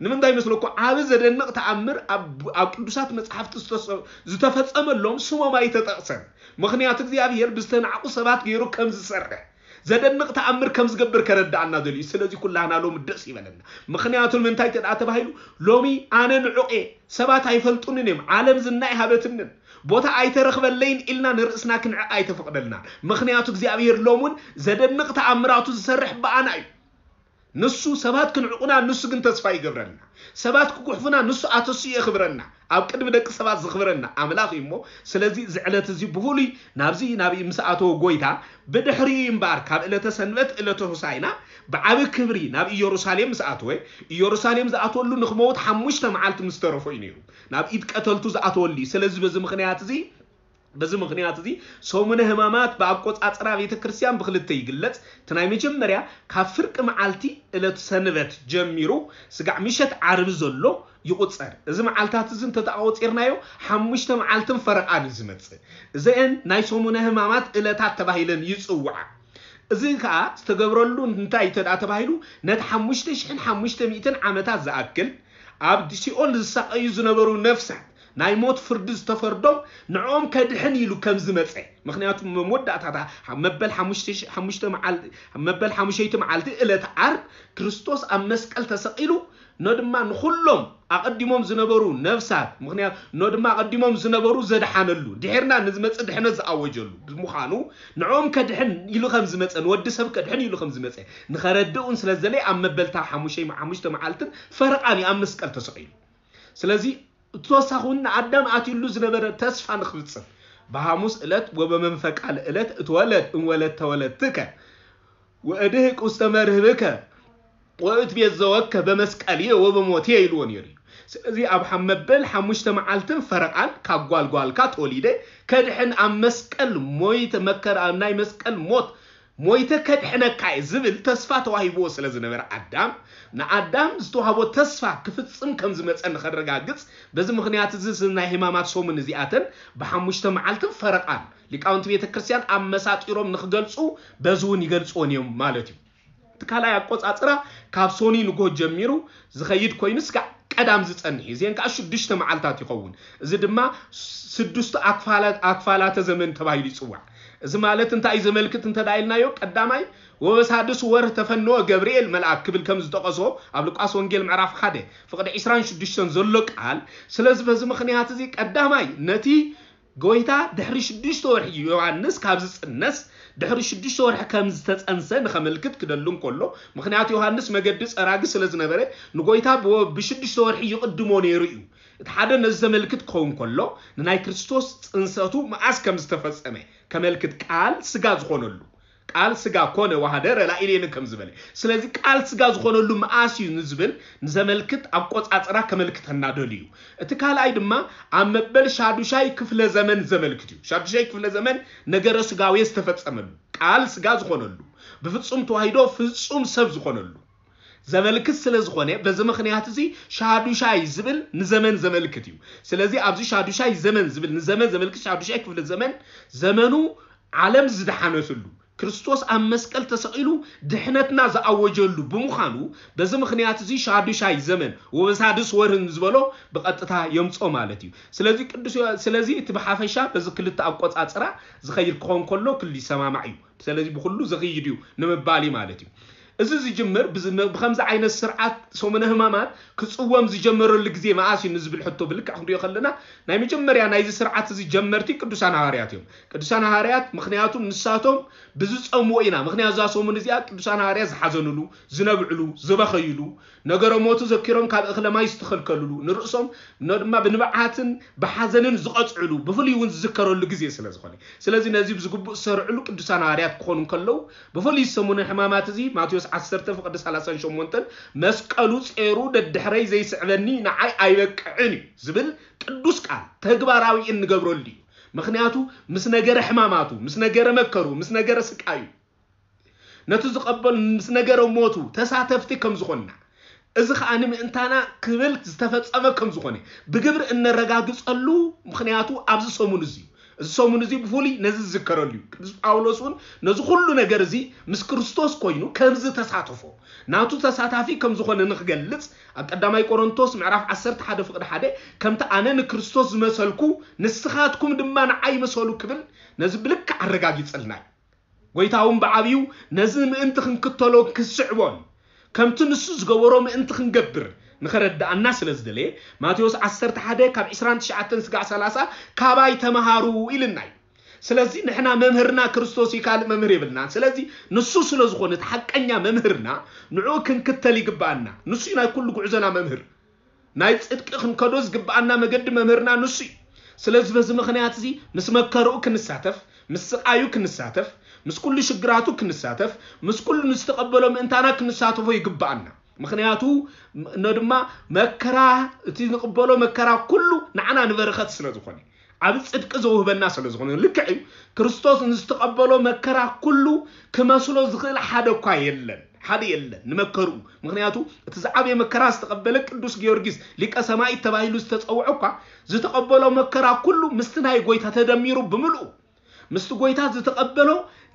ንምንታይ መስለኩ? ዓቢ ዘደንቕ ተኣምር ኣብ ኣብ ቅዱሳት መጻሕፍቲ ዝተሰ- ዝተፈጸመሎም ስሞም ኣይተጠቕሰን። ምኽንያቱ እግዚኣብሔር ብዝተናዕቁ ሰባት ገይሩ ከም ዝሰርሕ፣ ዘደንቕ ተኣምር ከም ዝገብር ከረድኣና ደልዩ። ስለዚ ኩላህና ሎሚ ደስ ይበለና። ምኽንያቱ ንምንታይ ተደኣ ተባሂሉ፣ ሎሚ ኣነ ንዑቕ እየ፣ ሰባት ኣይፈልጡንን እዮም፣ ዓለም ዝና ይሃበትንን፣ ቦታ ኣይተረኽበለይን ኢልና ንርእስና ክንዕቕ ኣይተፈቕደልናን። ምኽንያቱ እግዚኣብሔር ሎም እውን ዘደንቕ ተኣምራቱ ዝሰርሕ ብኣና እዩ። ንሱ ሰባት ክንዕቑና፣ ንሱ ግን ተስፋ ይገብረልና። ሰባት ክጉሕፉና፣ ንሱ ኣተሱ የኽብረና። ኣብ ቅድሚ ደቂ ሰባት ዝኽብረና ኣምላኽ እዩ እሞ፣ ስለዚ እዚ ዕለት እዚ ብፍሉይ ናብዚ ናብይ ምስ ኣተወ ጎይታ፣ ብድሕሪኡ እምበኣር ካብ ዕለተ ሰንበት ዕለተ ሆሳዕና ብዓቢ ክብሪ ናብ ኢየሩሳሌም ምስ ኣተወ፣ ኢየሩሳሌም ዝኣትወሉ ንኽመውት ሓሙሽተ መዓልቲ ምስ ተረፎ እዩ ነይሩ። ናብ ኢድ ቀተልቱ ዝኣተወሉ እዩ። ስለዚ በዚ ምኽንያት እዚ በዚ ምኽንያት እዚ ሰሙነ ሕማማት ብኣቆጻጽራ ቤተ ክርስቲያን ብኽልተ ይግለጽ። እቲ ናይ መጀመርያ ካብ ፍርቂ መዓልቲ ዕለት ሰንበት ጀሚሩ ስጋዕ ምሸት ዓርቢ ዘሎ ይቑጸር። እዚ መዓልታት እዚ እንተተኣቆጺርናዮ ሓሙሽተ መዓልትን ፈረቓን እዩ ዝመጽእ። እዚአን ናይ ሰሙነ ሕማማት ዕለታት ተባሂለን ይጽውዓ። እዚ ከኣ ዝተገብረሉ እንታይ ተደኣ ተባሂሉ፣ ነቲ ሓሙሽተ ሽሕን ሓሙሽተ ሚእትን ዓመታት ዝኣክል ኣብ ሲኦል ዝሳቐዩ ዝነበሩ ነፍሳት ናይ ሞት ፍርዲ ዝተፈርዶም ንዕኦም ከድሕን ኢሉ ከም ዝመጸ። ምኽንያቱ መወዳእታታ መበል ሓሙሽተ ሽ- ሓሙሽተ መዓል- መበል ሓሙሸይቲ መዓልቲ ዕለት ዓርብ ክርስቶስ ኣብ መስቀል ተሰቒሉ ኖ ድማ ንኹሎም ኣቐዲሞም ዝነበሩ ነፍሳት፣ ምኽንያቱ ኖ ድማ ኣቐዲሞም ዝነበሩ ዘድሓነሉ፣ ድሕርና ንዝመጽእ ድሕነት ዝኣወጀሉ ብምዃኑ፣ ንዕኦም ከድሕን ኢሉ ከም ዝመጸ፣ ንወዲ ሰብ ከድሕን ኢሉ ከም ዝመጸ ንኸረድእ እውን ስለ ዝደለየ ኣብ መበልታ ሓሙሸይ- ሓሙሽተ መዓልትን ፈረቓን እዩ ኣብ መስቀል ተሰቒሉ። ስለዚ እቲ ተወሳኺ እውን ንኣዳም ኣትዩሉ ዝነበረ ተስፋ ንክፍጽም፣ በሐሙስ ዕለት ወበመንፈቃ ለዕለት እትወለድ እምወለድ ተወለድትከ ወእድህቅ ውስተ መርህብከ ወእትቤት ዘወከ በመስቀልየ ወበሞትየ ኢልዎ ነይሩ እዩ። ስለዚ ኣብ ሓ- መበል ሓሙሽተ መዓልትን ፈረቓን ካብ ጓልጓልካ ተወሊደ ከድሕን ኣብ መስቀል ሞይተ መከራ ናይ መስቀል ሞት ሞይተ ከድሕነካ እየ ዝብል ተስፋ ተዋሂብዎ ስለ ዝነበረ ኣዳም ንኣዳም ዝተዋህቦ ተስፋ ክፍጽም ከም ዝመጸ ንኸረጋግጽ በዚ ምኽንያት እዚ እዚ ናይ ሕማማት ሰሙን እዚኣተን ብሓሙሽተ መዓልትን ፈረቓን ሊቃውንቲ ቤተ ክርስቲያን ኣመሳጢሮም ንኽገልጹ በዚ እውን ይገልጽዎን እዮም ማለት እዩ። እቲ ካልኣይ ኣቆጻጽራ ካብ ሶኒ ንግሆ ጀሚሩ ዝኸይድ ኮይኑ ስጋዕ ቀዳም ዝጸንሕ እዩ። እዚአን ከዓ ሽዱሽተ መዓልታት ይኸውን። እዚ ድማ ስድስቱ ኣክፋላት ኣክፋላተ ዘመን ተባሂሉ ይጽዋዕ። እዚ ማለት እንታይ እዩ ዘመልክት እንተ ኢልናዮ ቀዳማይ ወበሳድስ ወርህ ተፈነወ ገብርኤል መልኣክ ክብል ከም ዝጠቐሶ ኣብ ሉቃስ ወንጌል ምዕራፍ ሓደ ፍቕዲ ዕስራን ሽዱሽተን ዘሎ ቃል። ስለዚ በዚ ምኽንያት እዚ ቀዳማይ ነቲ ጎይታ ድሕሪ ሽዱሽተ ወርሒ ዮሃንስ ካብ ዝጽነስ ድሕሪ ሽዱሽተ ወርሒ ከም ዝተጸንሰ ንኸመልክት ክደሉ እንከሎ ምኽንያቱ ዮሃንስ መገዲ ጸራጊ ስለ ዝነበረ ንጎይታ ብወ- ብሽዱሽተ ወርሒ ይቕድሞ ነይሩ እዩ። እቲ ሓደ ነዚ ዘመልክት ክኸውን ከሎ ንናይ ክርስቶስ ጽንሰቱ መዓስ ከም ዝተፈጸመ ከመልክት ቃል ስጋ ዝኾነሉ ቃል ስጋ ኮነ ዋሃደ ረላኢሌን ከም ዝበለ ስለዚ ቃል ስጋ ዝኾነሉ መዓስ እዩ ንዝብል ንዘመልክት ኣቆጻጽራ ከመልክተና ደልዩ እዩ። እቲ ካልኣይ ድማ ኣብ መበል ሻዱሻይ ክፍለ ዘመን ዘመልክት እዩ። ሻዱሻይ ክፍለ ዘመን ነገረ ስጋዌ ዝተፈጸመሉ ቃል ስጋ ዝኾነሉ ብፍጹም ተዋሂዶ ፍጹም ሰብ ዝኾነሉ ዘመልክት ስለ ዝኾነ በዚ ምኽንያት እዚ ሻዱሻይ ዝብል ንዘመን ዘመልክት እዩ። ስለዚ ኣብዚ ሻዱሻይ ዘመን ዝብል ንዘመን ዘመልክት ሻዱሻይ ክፍለ ዘመን ዘመኑ ዓለም ዝደሓነትሉ ክርስቶስ ኣብ መስቀል ተሰቒሉ ድሕነትና ዝኣወጀሉ ብምዃኑ በዚ ምኽንያት እዚ ሻዱሻይ ዘመን ወበሳድስ ወርህን ዝበሎ ብቐጥታ የምጾ ማለት እዩ። ስለዚ ቅዱስ ዮ- ስለዚ እቲ ብሓፈሻ በዚ ክልተ ኣቆጻጽራ ዝኸይድ ክኸውን ከሎ ክሉ ይሰማማዕ እዩ። ስለዚ ብኩሉ ዝኽይድ እዩ ንምባል እዩ ማለት እዩ። እዚ ዝጅምር ብዚ- ብከምዚ ዓይነት ስርዓት ሰሙነ ህማማት ክጽወም ዝጀመረሉ ግዜ መኣስ እዩ ንዝብል ሕቶ ብልክዕ ክንሪኦ ከለና ናይ መጀመርያ ናይዚ ስርዓት እዚ ጀመርቲ ቅዱሳን ሃዋርያት እዮም። ቅዱሳን ሃዋርያት ምኽንያቱ ንሳቶም ብዝጸምዎ ኢና። ምኽንያቱ እዛ ሰሙን እዚኣ ቅዱሳን ሃዋርያት ዝሓዘኑሉ፣ ዝነብዕሉ፣ ዝበኸይሉ፣ ነገረ ሞቱ ዘኪሮም ካብ እኽለ ማይ ዝተኸልከሉሉ፣ ንርእሶም ኖ ድማ ብንብዓትን ብሓዘንን ዝቐጽዕሉ፣ ብፍሉይ እውን ዝዝከረሉ ግዜ ስለ ዝኾነ። ስለዚ ነዚ ብዝግቡእ ዝሰርዕሉ ቅዱሳን ሃዋርያት ክኾኑ እንከለዉ፣ ብፍሉይ ሰሙነ ሕማማት እዚ ማቴዎስ ዓሰርተ ፍቕዲ ሰላሳን ሸሞንተን መስቀሉ ጼሩ ደድሕረይ ዘይስዕበኒ ንዓይ ኣይበቅዕን እዩ ዝብል ቅዱስ ቃል ተግባራዊ እንገብረሉ እዩ። ምኽንያቱ ምስ ነገረ ሕማማቱ፣ ምስ ነገረ መከሩ፣ ምስ ነገረ ስቃዩ፣ ነቲ ዝቐበል ምስ ነገረ ሞቱ ተሳተፍቲ ከም ዝኾንና እዚ ኸኣ ንምእንታና ክብል ዝተፈጸመ ከም ዝኾነ ብግብሪ እነረጋግጸሉ ምኽንያቱ ኣብዚ ሰሙን እዚ እዩ። እዚ ሰሙን እዚ ብፍሉይ ነዚ ዝዝከረሉ እዩ። ቅዱስ ጳውሎስ እውን ነዚ ኩሉ ነገር እዚ ምስ ክርስቶስ ኮይኑ ከም ዝተሳተፎ፣ ናቱ ተሳታፊ ከም ዝኾነ ንኽገልጽ ኣብ ቀዳማይ ቆሮንቶስ ምዕራፍ ዓሰርተ ሓደ ፍቕዲ ሓደ፣ ከምቲ ኣነ ንክርስቶስ ዝመሰልኩ ንስኻትኩም ድማ ንዓይ ምሰሉ ክብል ነዚ ብልክዕ ኣረጋጊጸልና እዩ። ጎይታ እውን ብዓብዩ ነዚ ምእንቲ ክንክተሎ ክስዕቦን ከምቲ ንሱ ዝገበሮ ምእንቲ ክንገብር ንኸረድኣና ስለ ዝደለየ፣ ማቴዎስ ዓሰርተ ሓደ ካብ ዕስራን ትሽዓተን ስጋዕ ሰላሳ ካባይ ተምሃሩ ኢልና እዩ። ስለዚ ንሕና መምህርና ክርስቶስ እዩ፣ ካልእ መምህር የብልናን። ስለዚ ንሱ ስለ ዝኾነ እቲ ሓቀኛ መምህርና፣ ንዕኡ ክንክተል ይግብኣና። ንሱ እዩ ናይ ኩሉ ጉዕዞና መምህር። ናይ ጽድቂ ክንከዶ ዝግብኣና መገዲ መምህርና ንሱ እዩ። ስለዚ በዚ ምኽንያት እዚ ምስ መከርኡ ክንሳተፍ፣ ምስ ስቓዩ ክንሳተፍ፣ ምስ ኩሉ ሽግራቱ ክንሳተፍ፣ ምስ ኩሉ ንዝተቐበሎ ምእንታና ክንሳተፎ ይግብኣና። ምኽንያቱ ም-፣ ኖ ድማ መከራ፣ እቲ ንቕበሎ መከራ ኩሉ ንዓና ንበረኸት ስለ ዝኾነ፣ ዓቢ ጽድቂ ዘውህበና ስለ ዝኾነ፣ ልክዕ እዩ። ክርስቶስ ንዝተቐበሎ መከራ ኩሉ ክመስሎ ዝኽእል ሓደ እኳ የለን፣ ሓደ የለን ንመከርኡ። ምኽንያቱ እቲ ዝዓበየ መከራ ዝተቐበለ ቅዱስ ጊዮርጊስ ሊቀ ሰማዕት ተባሂሉ ዝተጸውዐ እኳ ዝተቐበሎ መከራ ኩሉ ምስቲ ናይ ጎይታ ተደሚሩ ብምልኡ፣ ምስቲ ጎይታ ዝተቐበሎ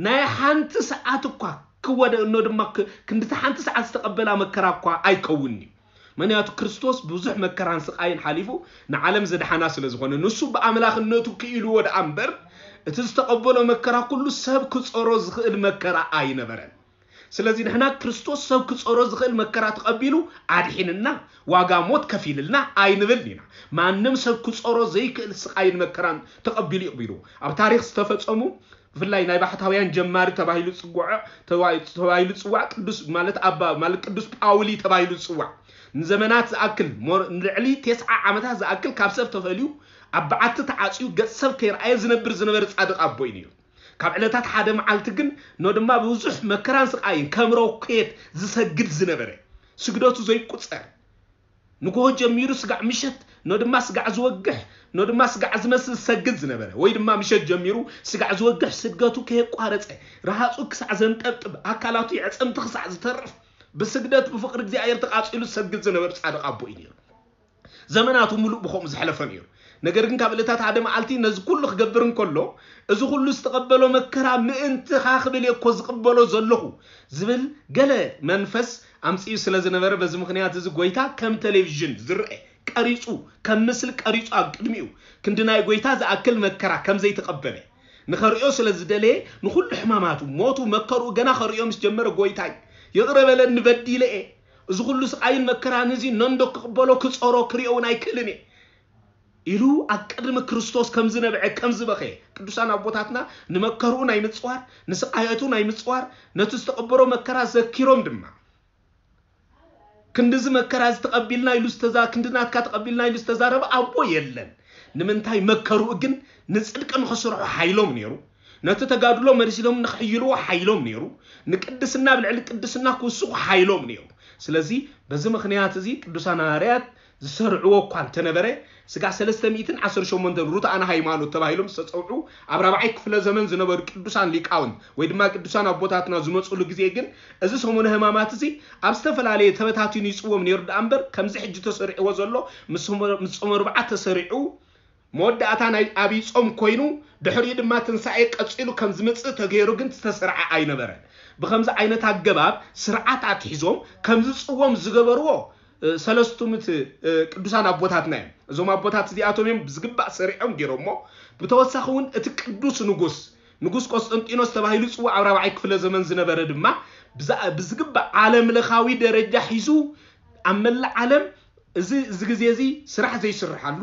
ናይ ሓንቲ ሰዓት እኳ ክወደ እኖ ድማ ክ-፣ ክንድቲ ሓንቲ ሰዓት ዝተቐበላ መከራ እኳ ኣይከውንን እዩ። ምኽንያቱ ክርስቶስ ብዙሕ መከራን ስቓይን ሓሊፉ ንዓለም ዘድሓና ስለ ዝኾነ፣ ንሱ ብኣምላኽነቱ ክኢልዎ ደኣ እምበር፣ እቲ ዝተቐበሎ መከራ ኩሉ ሰብ ክጾሮ ዝኽእል መከራ ኣይነበረን። ስለዚ ንሕና ክርስቶስ ሰብ ክጾሮ ዝኽእል መከራ ተቐቢሉ ኣድሒንና፣ ዋጋ ሞት ከፊልልና ኣይንብልን ኢና። ማንም ሰብ ክጾሮ ዘይክእል ስቓይን መከራን ተቐቢሉ እዩ ቅቢሉ። ኣብ ታሪኽ ዝተፈጸሙ ብፍላይ ናይ ባሕታውያን ጀማሪ ተባሂሉ ዝጽዋዕ፣ ተባሂ-፣ ተባሂሉ ዝጽዋዕ ቅዱስ ማለት ኣባ ማለት ቅዱስ ጳውሊ ተባሂሉ ዝጽዋዕ ንዘመናት ዝኣክል ሞር-፣ ንልዕሊ ተስዓ ዓመታት ዝኣክል ካብ ሰብ ተፈልዩ ኣብ በዓቲ ተዓጽዩ ገጽ ሰብ ከይረኣየ ዝነብር ዝነበረ ጻድቕ ኣቦ እዩ ነይሩ። ካብ ዕለታት ሓደ መዓልቲ ግን ኖ ድማ ብዙሕ መከራን ስቓይን ከም ሮኬት ዝሰግድ ዝነበረ ስግደቱ ዘይቁጸር ንጎሆ ጀሚሩ ስጋዕ ምሸት ኖ ድማ ስጋዕ ዝወግሕ ኖ ድማ ስጋዕ ዝመስል ዝሰግድ ዝነበረ ወይ ድማ ምሸት ጀሚሩ ስጋዕ ዝወግሕ ስግደቱ ከየቋረጸ ረሃጹ ክሳዕ ዘንጠብጥብ ኣካላቱ የዕጸምቲ ክሳዕ ዝተርፍ ብስግደት ብፍቕሪ እግዚኣብሔር ተቓጺሉ ዝሰግድ ዝነበረ ጻድቕ ኣቦ እዩ ነይሩ። ዘመናቱ ሙሉእ ብኸምኡ ዘሕለፈ ነይሩ። ነገር ግን ካብ ዕለታት ሓደ መዓልቲ ነዚ ኩሉ ክገብር እንከሎ እዚ ኩሉ ዝተቐበሎ መከራ ምእንትኻ ክብል እየ እኮ ዝቕበሎ ዘለኹ ዝብል ገለ መንፈስ ኣምጺኡ ስለ ዝነበረ በዚ ምኽንያት እዚ ጎይታ ከም ቴሌቪዥን ዝረአ ቀሪጹ ከም ምስሊ ቀሪጹ ኣብ ቅድሚኡ ክንዲ ናይ ጎይታ ዝኣክል መከራ ከም ዘይተቐበለ ንኸርእዮ ስለ ዝደለየ ንኹሉ ሕማማቱ ሞቱ መከርኡ ገና ከርእዮ ምስ ጀመረ ጎይታይ ይቕረ በለኒ በዲለ እየ እዚ ኩሉ ስቓይን መከራን እዚ ነንዶ ክቕበሎ ክጸሮ ክርእዮ እውን ኣይክእልን እየ ኢሉ ኣብ ቅድሚ ክርስቶስ ከም ዝነብዐ ከም ዝበኸየ ቅዱሳን ኣቦታትና ንመከርኡ ናይ ምጽዋር ንስቓየቱ ናይ ምጽዋር ነቲ ዝተቐበሮ መከራ ዘኪሮም ድማ ክንድዚ መከራ ዝተቐቢልና ኢሉ ዝተዛ ክንዲ ናትካ ተቐቢልና ኢሉ ዝተዛረበ ኣቦ የለን ንምንታይ መከርኡ ግን ንጽድቂ ንኽስርሑ ሓይሎም ነይሩ ነቲ ተጋድሎ መሪሲሎም ንኽሕይልዎ ሓይሎም ነይሩ ንቅድስና ብልዕሊ ቅድስና ክውስኹ ሓይሎም ነይሩ ስለዚ በዚ ምኽንያት እዚ ቅዱሳን ሃዋርያት ዝሰርዕዎ እኳ እንተነበረ ስጋ ሰለስተ ሚእትን ዓሰርተ ሸሞንተን ሩትኣነ ሃይማኖት ተባሂሎም ዝተፀውዑ ኣብ ራብዓይ ክፍለ ዘመን ዝነበሩ ቅዱሳን ሊቃውንት ወይ ድማ ቅዱሳን ኣቦታትና ዝመፁሉ ግዜ ግን እዚ ሰሙነ ሕማማት እዚ ኣብ ዝተፈላለየ ተበታቲኑ ይፅዎም ነይሩ ደኣ እምበር ከምዚ ሕጂ ተሰሪዕዎ ዘሎ ምስ ጾመ ርብዓ ተሰሪዑ መወዳእታ ናይ ኣብይ ጾም ኮይኑ ድሕሪኡ ድማ ትንሳኤ ቀጺሉ ከም ዝመጽእ ተገይሩ ግን ዝተሰርዐ ኣይነበረን። ብኸምዚ ዓይነት ኣገባብ ስርዓት ኣትሒዞም ከም ዝጽወም ዝገበርዎ ሰለስቱ ምት ቅዱሳን ኣቦታትና እዮም። እዞም ኣቦታት እዚኣቶም እዮም ብዝግባእ ሰሪዖም ገይሮሞ። ብተወሳኺ እውን እቲ ቅዱስ ንጉስ ንጉስ ቆስጠንጢኖስ ተባሂሉ ይጽዋዕ ኣብ ራብዓይ ክፍለ ዘመን ዝነበረ ድማ ብዝግባእ ዓለም ለኻዊ ደረጃ ሒዙ ኣብ መላእ ዓለም እዚ እዚ ግዜ እዚ ስራሕ ዘይስርሓሉ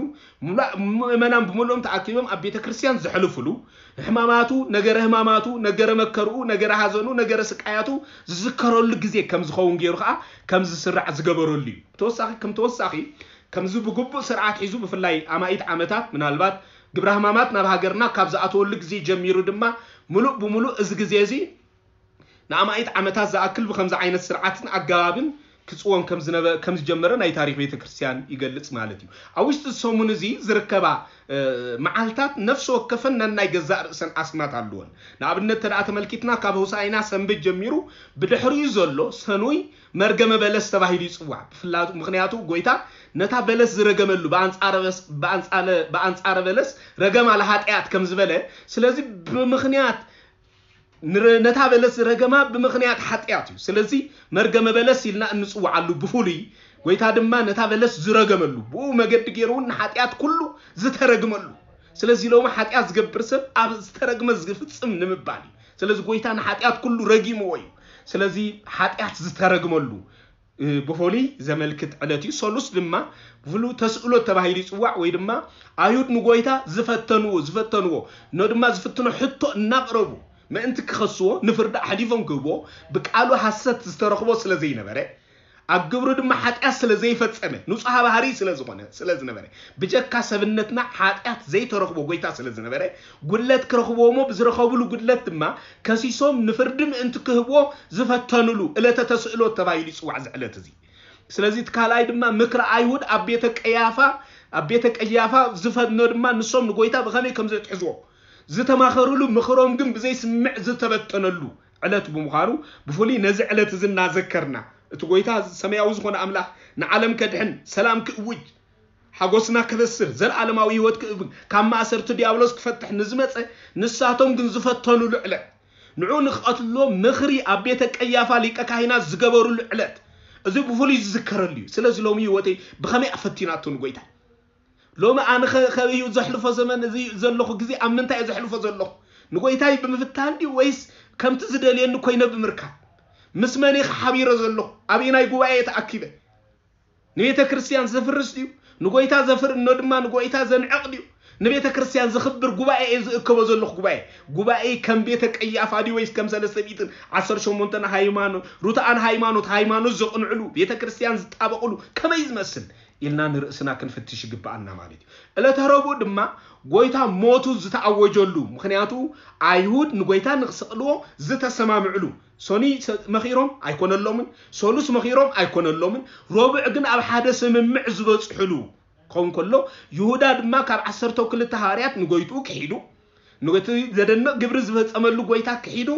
ምእመናን ብምሉኦም ተኣኪቦም ኣብ ቤተ ክርስቲያን ዘሕልፍሉ ሕማማቱ ነገረ ሕማማቱ ነገረ መከርኡ ነገረ ሃዘኑ ነገረ ስቃያቱ ዝዝከረሉ ግዜ ከም ዝኸውን ገይሩ ከዓ ከም ዝስራዕ ዝገበረሉ እዩ ተወሳኺ ከም ተወሳኺ ከምዚ ብግቡእ ስርዓት ሒዙ ብፍላይ ኣማኢት ዓመታት ምናልባት ግብረ ሕማማት ናብ ሃገርና ካብ ዝኣተወሉ ግዜ ጀሚሩ ድማ ምሉእ ብምሉእ እዚ ግዜ እዚ ንኣማኢት ዓመታት ዝኣክል ብኸምዚ ዓይነት ስርዓትን ኣገባብን ክጽወን ከም ዝጀመረ ናይ ታሪኽ ቤተ ክርስቲያን ይገልጽ ማለት እዩ። ኣብ ውሽጢ ሰሙን እዚ ዝርከባ መዓልታት ነፍሲ ወከፈን ነናይ ገዛእ ርእሰን ኣስማት ኣለወን። ንኣብነት ተደኣ ተመልኪትና ካብ ሆሳኢና ሰንበት ጀሚሩ ብድሕሪኡ ዘሎ ሰኑይ መርገመ በለስ ተባሂሉ ይጽዋዕ። ምኽንያቱ ጎይታ ነታ በለስ ዝረገመሉ ብኣንጻረ በለስ ረገማ ለሃጢኣት ከም ዝበለ፣ ስለዚ ብምኽንያት ነታ በለስ ዝረገማ ብምኽንያት ሓጢኣት እዩ። ስለዚ መርገመ በለስ ኢልና እንጽውዓሉ ብፍሉይ፣ ጎይታ ድማ ነታ በለስ ዝረገመሉ፣ ብኡ መገዲ ገይሩ እውን ንሓጢኣት ኩሉ ዝተረግመሉ። ስለዚ ሎሚ ሓጢኣት ዝገብር ሰብ ኣብ ዝተረግመ ዝፍጽም ንምባል እዩ። ስለዚ ጎይታ ንሓጢኣት ኩሉ ረጊምዎ እዩ። ስለዚ ሓጢኣት ዝተረግመሉ ብፍሉይ ዘመልክት ዕለት እዩ። ሰሉስ ድማ ብፍሉ ተስእሎ ተባሂሉ ይጽዋዕ፣ ወይ ድማ ኣይሁድ ንጎይታ ዝፈተንዎ ዝፈተንዎ ኖ ድማ ዝፍትኖ ሕቶ እናቕረቡ ምእንቲ ክኸስዎ፣ ንፍርዲ ኣሕሊፎም ክህብዎ፣ ብቃሉ ሓሰት ዝተረኽቦ ስለ ዘይነበረ፣ ኣብ ግብሩ ድማ ሓጢኣት ስለ ዘይፈጸመ፣ ንጹሃ ባህሪ ስለ ዝኾነ ስለ ዝነበረ፣ ብጀካ ሰብነትና ሓጢኣት ዘይተረኽቦ ጎይታ ስለ ዝነበረ፣ ጉድለት ክረኽብዎ እሞ ብዝረኸብሉ ጉድለት ድማ ከሲሶም ንፍርዲ ምእንቲ ክህብዎ ዝፈተኑሉ ዕለተ ተስእሎ ተባሂሉ ይጽዋዕ እዚ ዕለት እዚ። ስለዚ እቲ ካልኣይ ድማ ምክሪ ኣይሁድ ኣብ ቤተ ቀያፋ ኣብ ቤተ ቀያፋ ዝፈኖ ድማ ንሶም ንጎይታ ብኸመይ ከም ዘትሕዝዎ ዝተማኸሩሉ፣ ምኽሮም ግን ብዘይስምዕ ዝተበተነሉ ዕለት ብምዃኑ፣ ብፍሉይ ነዚ ዕለት እዚ እናዘከርና፣ እቲ ጎይታ ሰማያዊ ዝኾነ ኣምላኽ ንዓለም ከድሕን፣ ሰላም ክእውጅ፣ ሓጎስና ከበስር፣ ዘለኣለማዊ ህይወት ክእብን፣ ካብ ማእሰርቲ ዲያብሎስ ክፈትሕ ንዝመጸ፣ ንሳቶም ግን ዝፈተኑሉ ዕለት፣ ንዑ ንክቐትልዎ ምኽሪ ኣብ ቤተ ቀያፋ ሊቀ ካህናት ዝገበሩሉ ዕለት፣ እዚ ብፍሉይ ዝዝከረሉ እዩ። ስለዚ ሎሚ ህይወተይ ብኸመይ ኣፈቲናቶ ንጎይታ? ሎሚ ኣነ ከበዩ ዘሕልፎ ዘመን እዚ ዘለኹ ግዜ ኣብ ምንታይ እየ ዘሕልፎ ዘለኹ? ንጎይታይ ብምፍታን ድዩ ወይስ ከምቲ ዝደልየኒ ኮይነ ብምርካብ? ምስ መን እየ ሓቢረ ዘለኹ? ኣበየናይ ጉባኤ እየ ተኣኪበ? ንቤተ ክርስቲያን ዘፍርስ ድዩ? ንጎይታ ዘፍር እኖ ድማ ንጎይታ ዘንዕቕ ድዩ? ንቤተ ክርስቲያን ዘኽብር ጉባኤ እየ ዝእከቦ ዘለኹ ጉባኤ። ጉባኤ ከም ቤተ ቀያፋ ድዩ ወይስ ከም ሰለስተ ሚእትን ዓሰርተ ሸሞንተን ሃይማኖት ሩትኣን ሃይማኖት ሃይማኖት ዘቕንዕሉ ቤተ ክርስቲያን ዝጣበቕሉ ከመይ ዝመስል ኢልና ንርእስና ክንፍትሽ ይግብኣና ማለት እዩ። ዕለተ ረቡዕ ድማ ጎይታ ሞቱ ዝተኣወጀሉ፣ ምኽንያቱ ኣይሁድ ንጎይታ ንክስቕልዎ ዝተሰማምዕሉ፣ ሶኒ መኺሮም ኣይኮነሎምን፣ ሶሉስ መኺሮም ኣይኮነሎምን፣ ረቡዕ ግን ኣብ ሓደ ስምምዕ ዝበጽሕሉ ክኸውን ከሎ፣ ይሁዳ ድማ ካብ ዓሰርተው ክልተ ሃዋርያት ንጎይትኡ ክሒዱ፣ ነቲ ዘደንቕ ግብሪ ዝፈጸመሉ ጎይታ ክሒዱ፣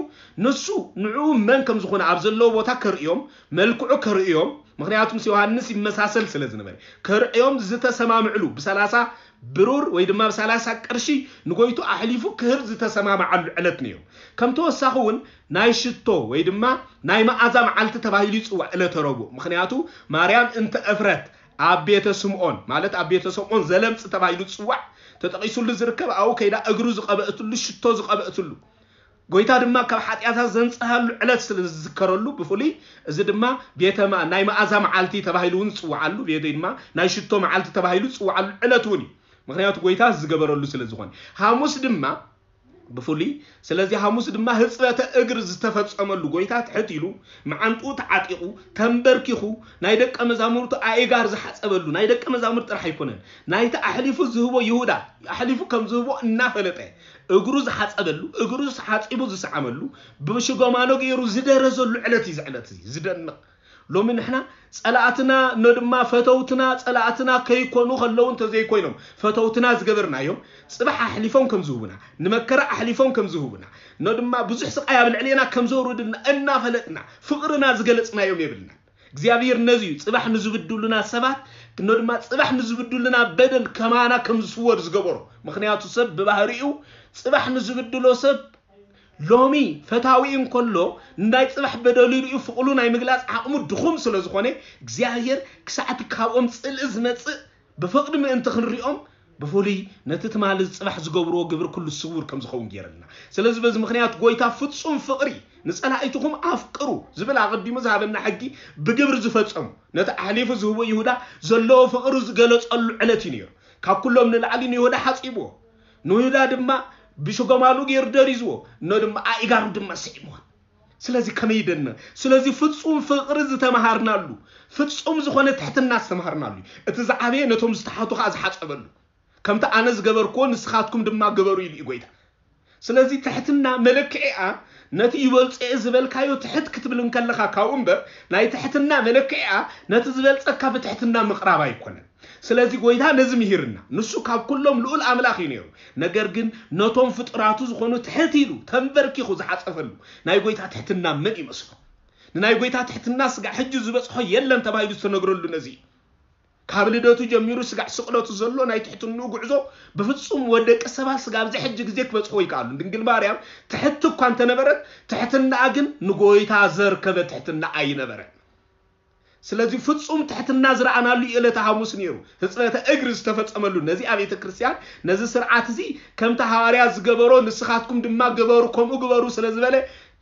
ንሱ ንዕኡ መን ከም ዝኾነ ኣብ ዘለዎ ቦታ ከርእዮም፣ መልክዑ ከርእዮም፣ ምኽንያቱ ምስ ዮሃንስ ይመሳሰል ስለ ዝነበረ፣ ከርእዮም ዝተሰማምዕሉ፣ ብሰላሳ ብሩር ወይ ድማ ብሰላሳ ቅርሺ ንጎይቱ ኣሕሊፉ ክህብ ዝተሰማምዓሉ ዕለት ነይሩ። ከም ተወሳኺ እውን ናይ ሽቶ ወይ ድማ ናይ መኣዛ መዓልቲ ተባሂሉ ይጽዋዕ ዕለተ ረቡዕ። ምኽንያቱ ማርያም እንተ እፍረት ኣብ ቤተ ስምዖን፣ ማለት ኣብ ቤተ ስምዖን ዘለምጽ ተባሂሉ ዝጽዋዕ ተጠቒሱሉ ዝርከብ፣ ኣብኡ ከይዳ እግሩ ዝቐበእትሉ፣ ሽቶ ዝቐበእትሉ፣ ጎይታ ድማ ካብ ሓጢኣታ ዘንጽሃሉ ዕለት ስለ ዝዝከረሉ፣ ብፍሉይ እዚ ድማ ቤተ ማ-፣ ናይ መኣዛ መዓልቲ ተባሂሉ እውን ዝጽውዓሉ፣ ቤተ ድማ ናይ ሽቶ መዓልቲ ተባሂሉ ዝጽውዓሉ ዕለት እውን እዩ። ምኽንያቱ ጎይታ ዝገበረሉ ስለ ዝኾነ። ሓሙስ ድማ ብፍሉይ፣ ስለዚ ሓሙስ ድማ ህጽበተ እግር ዝተፈጸመሉ፣ ጎይታ ትሕት ኢሉ፣ መዓንጥኡ ተዓጢቑ፣ ተንበርኪኹ፣ ናይ ደቀ መዛሙርቱ ኣእጋር ዝሓጸበሉ፣ ናይ ደቀ መዛሙርቱ ጥራሕ ኣይኮነን፣ ናይቲ ኣሕሊፉ ዝህቦ ይሁዳ ኣሕሊፉ ከም ዝህቦ እናፈለጠ፣ እግሩ ዝሓጸበሉ፣ እግሩ ሓጺቡ ዝሰዓመሉ፣ ብሽጎማኖ ገይሩ ዝደረዘሉ ዕለት እዩ። እዚ ዕለት እዚ ዝደንቕ። ሎሚ ንሕና ጸላእትና፣ ኖ ድማ ፈተውትና፣ ጸላእትና ከይኮኑ ከለዉ እንተዘይኮይኖም፣ ፈተውትና ዝገበርናዮም፣ ጽባሕ ኣሕሊፎም ከም ዝህቡና፣ ንመከራ ኣሕሊፎም ከም ዝህቡና፣ ኖ ድማ ብዙሕ ስቓይ ኣብ ልዕሌና ከም ዘውርድልና እናፈለጥና፣ ፍቕርና ዝገለጽናዮም የብልና። እግዚኣብሔር ነዚ እዩ ጽባሕ ንዝብድሉና ሰባት፣ ኖ ድማ ጽባሕ ንዝብድሉና በደል ከማና ከም ዝስወር ዝገበሮ። ምኽንያቱ ሰብ ብባህሪኡ ጽባሕ ንዝብድሎ ሰብ ሎሚ ፈታዊ እንከሎ፣ ናይ ጽባሕ በደሉ ርእዩ ፍቕሉ ናይ ምግላጽ ዓቕሙ ድኹም ስለ ዝኾነ፣ እግዚኣብሔር ክሳዕቲ ካብኦም ጽልኢ ዝመጽእ ብፍቕሪ ምእንቲ ክንሪኦም፣ ብፍሉይ ነቲ ትማሊ ጽባሕ ዝገብርዎ ግብሪ ኩሉ ስውር ከም ዝኸውን ገይረልና። ስለዚ በዚ ምኽንያት ጎይታ ፍጹም ፍቕሪ፣ "ንጸላኢትኹም ኣፍቅሩ" ዝብል ኣቐዲሙ ዝሃበና ሕጊ ብግብሪ ዝፈጸሙ፣ ነቲ ኣሕሊፉ ዝህቦ ይሁዳ ዘለዎ ፍቕሪ ዝገለጸሉ ዕለት እዩ ነይሩ። ካብ ኩሎም ንላዕሊ ንይሁዳ ሓጺብዎ፣ ንይሁዳ ድማ ብሽጎማሉ ገይሩ ደሪዝዎ፣ ኖ ድማ ኣእጋሩ ድማ ስዒምዎ። ስለዚ ከመይ ይደንቕ! ስለዚ ፍጹም ፍቕሪ ዝተመሃርናሉ፣ ፍጹም ዝኾነ ትሕትና ዝተመሃርናሉ እዩ። እቲ ዝዓበየ ነቶም ዝተሓቱ ኸኣ ዝሓጸበሉ። "ከምቲ ኣነ ዝገበርክዎ ንስኻትኩም ድማ ግበሩ" ኢሉ እዩ ጎይታ። ስለዚ ትሕትና መለክዒኣ ነቲ ይበልጾ እየ ዝበልካዮ ትሕት ክትብል እንከለኻ ካብኡ እምበር፣ ናይ ትሕትና መለክዒኣ ነቲ ዝበልጸካ ብትሕትና ምቕራብ ኣይኮነን። ስለዚ ጎይታ ነዚ ምሂርና። ንሱ ካብ ኩሎም ልኡል ኣምላኽ እዩ ነይሩ። ነገር ግን ነቶም ፍጡራቱ ዝኾኑ ትሕት ኢሉ ተንበርኪኹ ዝሓጸፈሉ ናይ ጎይታ ትሕትና መን ይመስሎ? ንናይ ጎይታ ትሕትና ስጋዕ ሕጂ ዝበጽሖ የለን ተባሂሉ ዝተነግረሉ ነዚ እዩ። ካብ ልደቱ ጀሚሩ ስጋዕ ስቕለቱ ዘሎ ናይ ትሕትንኡ ጉዕዞ ብፍጹም ወደቂ ሰባት ስጋዕ ኣብዚ ሕጂ ግዜ ክበጽሖ ይከኣሉ። ድንግል ማርያም ትሕቲ እኳ እንተነበረት፣ ትሕትናኣ ግን ንጎይታ ዘርከበ ትሕትና ኣይነበረን። ስለዚ ፍጹም ትሕትና ዝረኣናሉ እዩ ዕለተ ሓሙስ ነይሩ። ህጽበተ እግሪ ዝተፈጸመሉ ነዚ ኣብ ቤተ ክርስቲያን ነዚ ስርዓት እዚ ከምቲ ሃዋርያ ዝገበሮ ንስኻትኩም ድማ ግበሩ፣ ከምኡ ግበሩ ስለ ዝበለ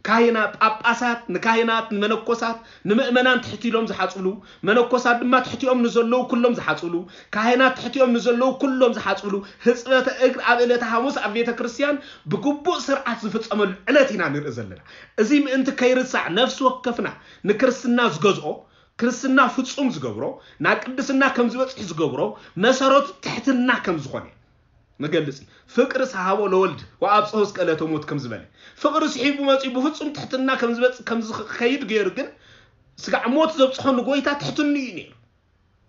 ካህናት፣ ጳጳሳት፣ ንካህናት፣ ንመነኮሳት፣ ንምእመናን ትሕት ኢሎም ዝሓጽብሉ፣ መነኮሳት ድማ ትሕቲኦም ንዘለዉ ኩሎም ዝሓጽብሉ፣ ካህናት ትሕቲኦም ንዘለዉ ኩሎም ዝሓጽብሉ፣ ህጽበተ እግር ኣብ ዕለተ ሓሙስ ኣብ ቤተ ክርስቲያን ብግቡእ ስርዓት ዝፍጸመሉ ዕለት ኢና ንርኢ ዘለና። እዚ ምእንቲ ከይርሳዕ ነፍሲ ወከፍና ንክርስትና ዝገዝኦ፣ ክርስትና ፍጹም ዝገብሮ፣ ናብ ቅድስና ከም ዝበጽሕ ዝገብሮ መሰረቱ ትሕትና ከም ዝኾነ መገልጺ። ፍቅርስ ሃቦ ለወልድ ወአብጽሖ እስከ ዕለተ ሞት ከም ዝበለ፣ ፍቅሪ ስሒቡ መጺኡ ብፍጹም ትሕትና ከም ዝበጽ-፣ ከም ዝኸይድ ገይሩ ግን ስጋዕ ሞት ዘብጽሖ ንጎይታ ትሕትኑ እዩ ነይሩ።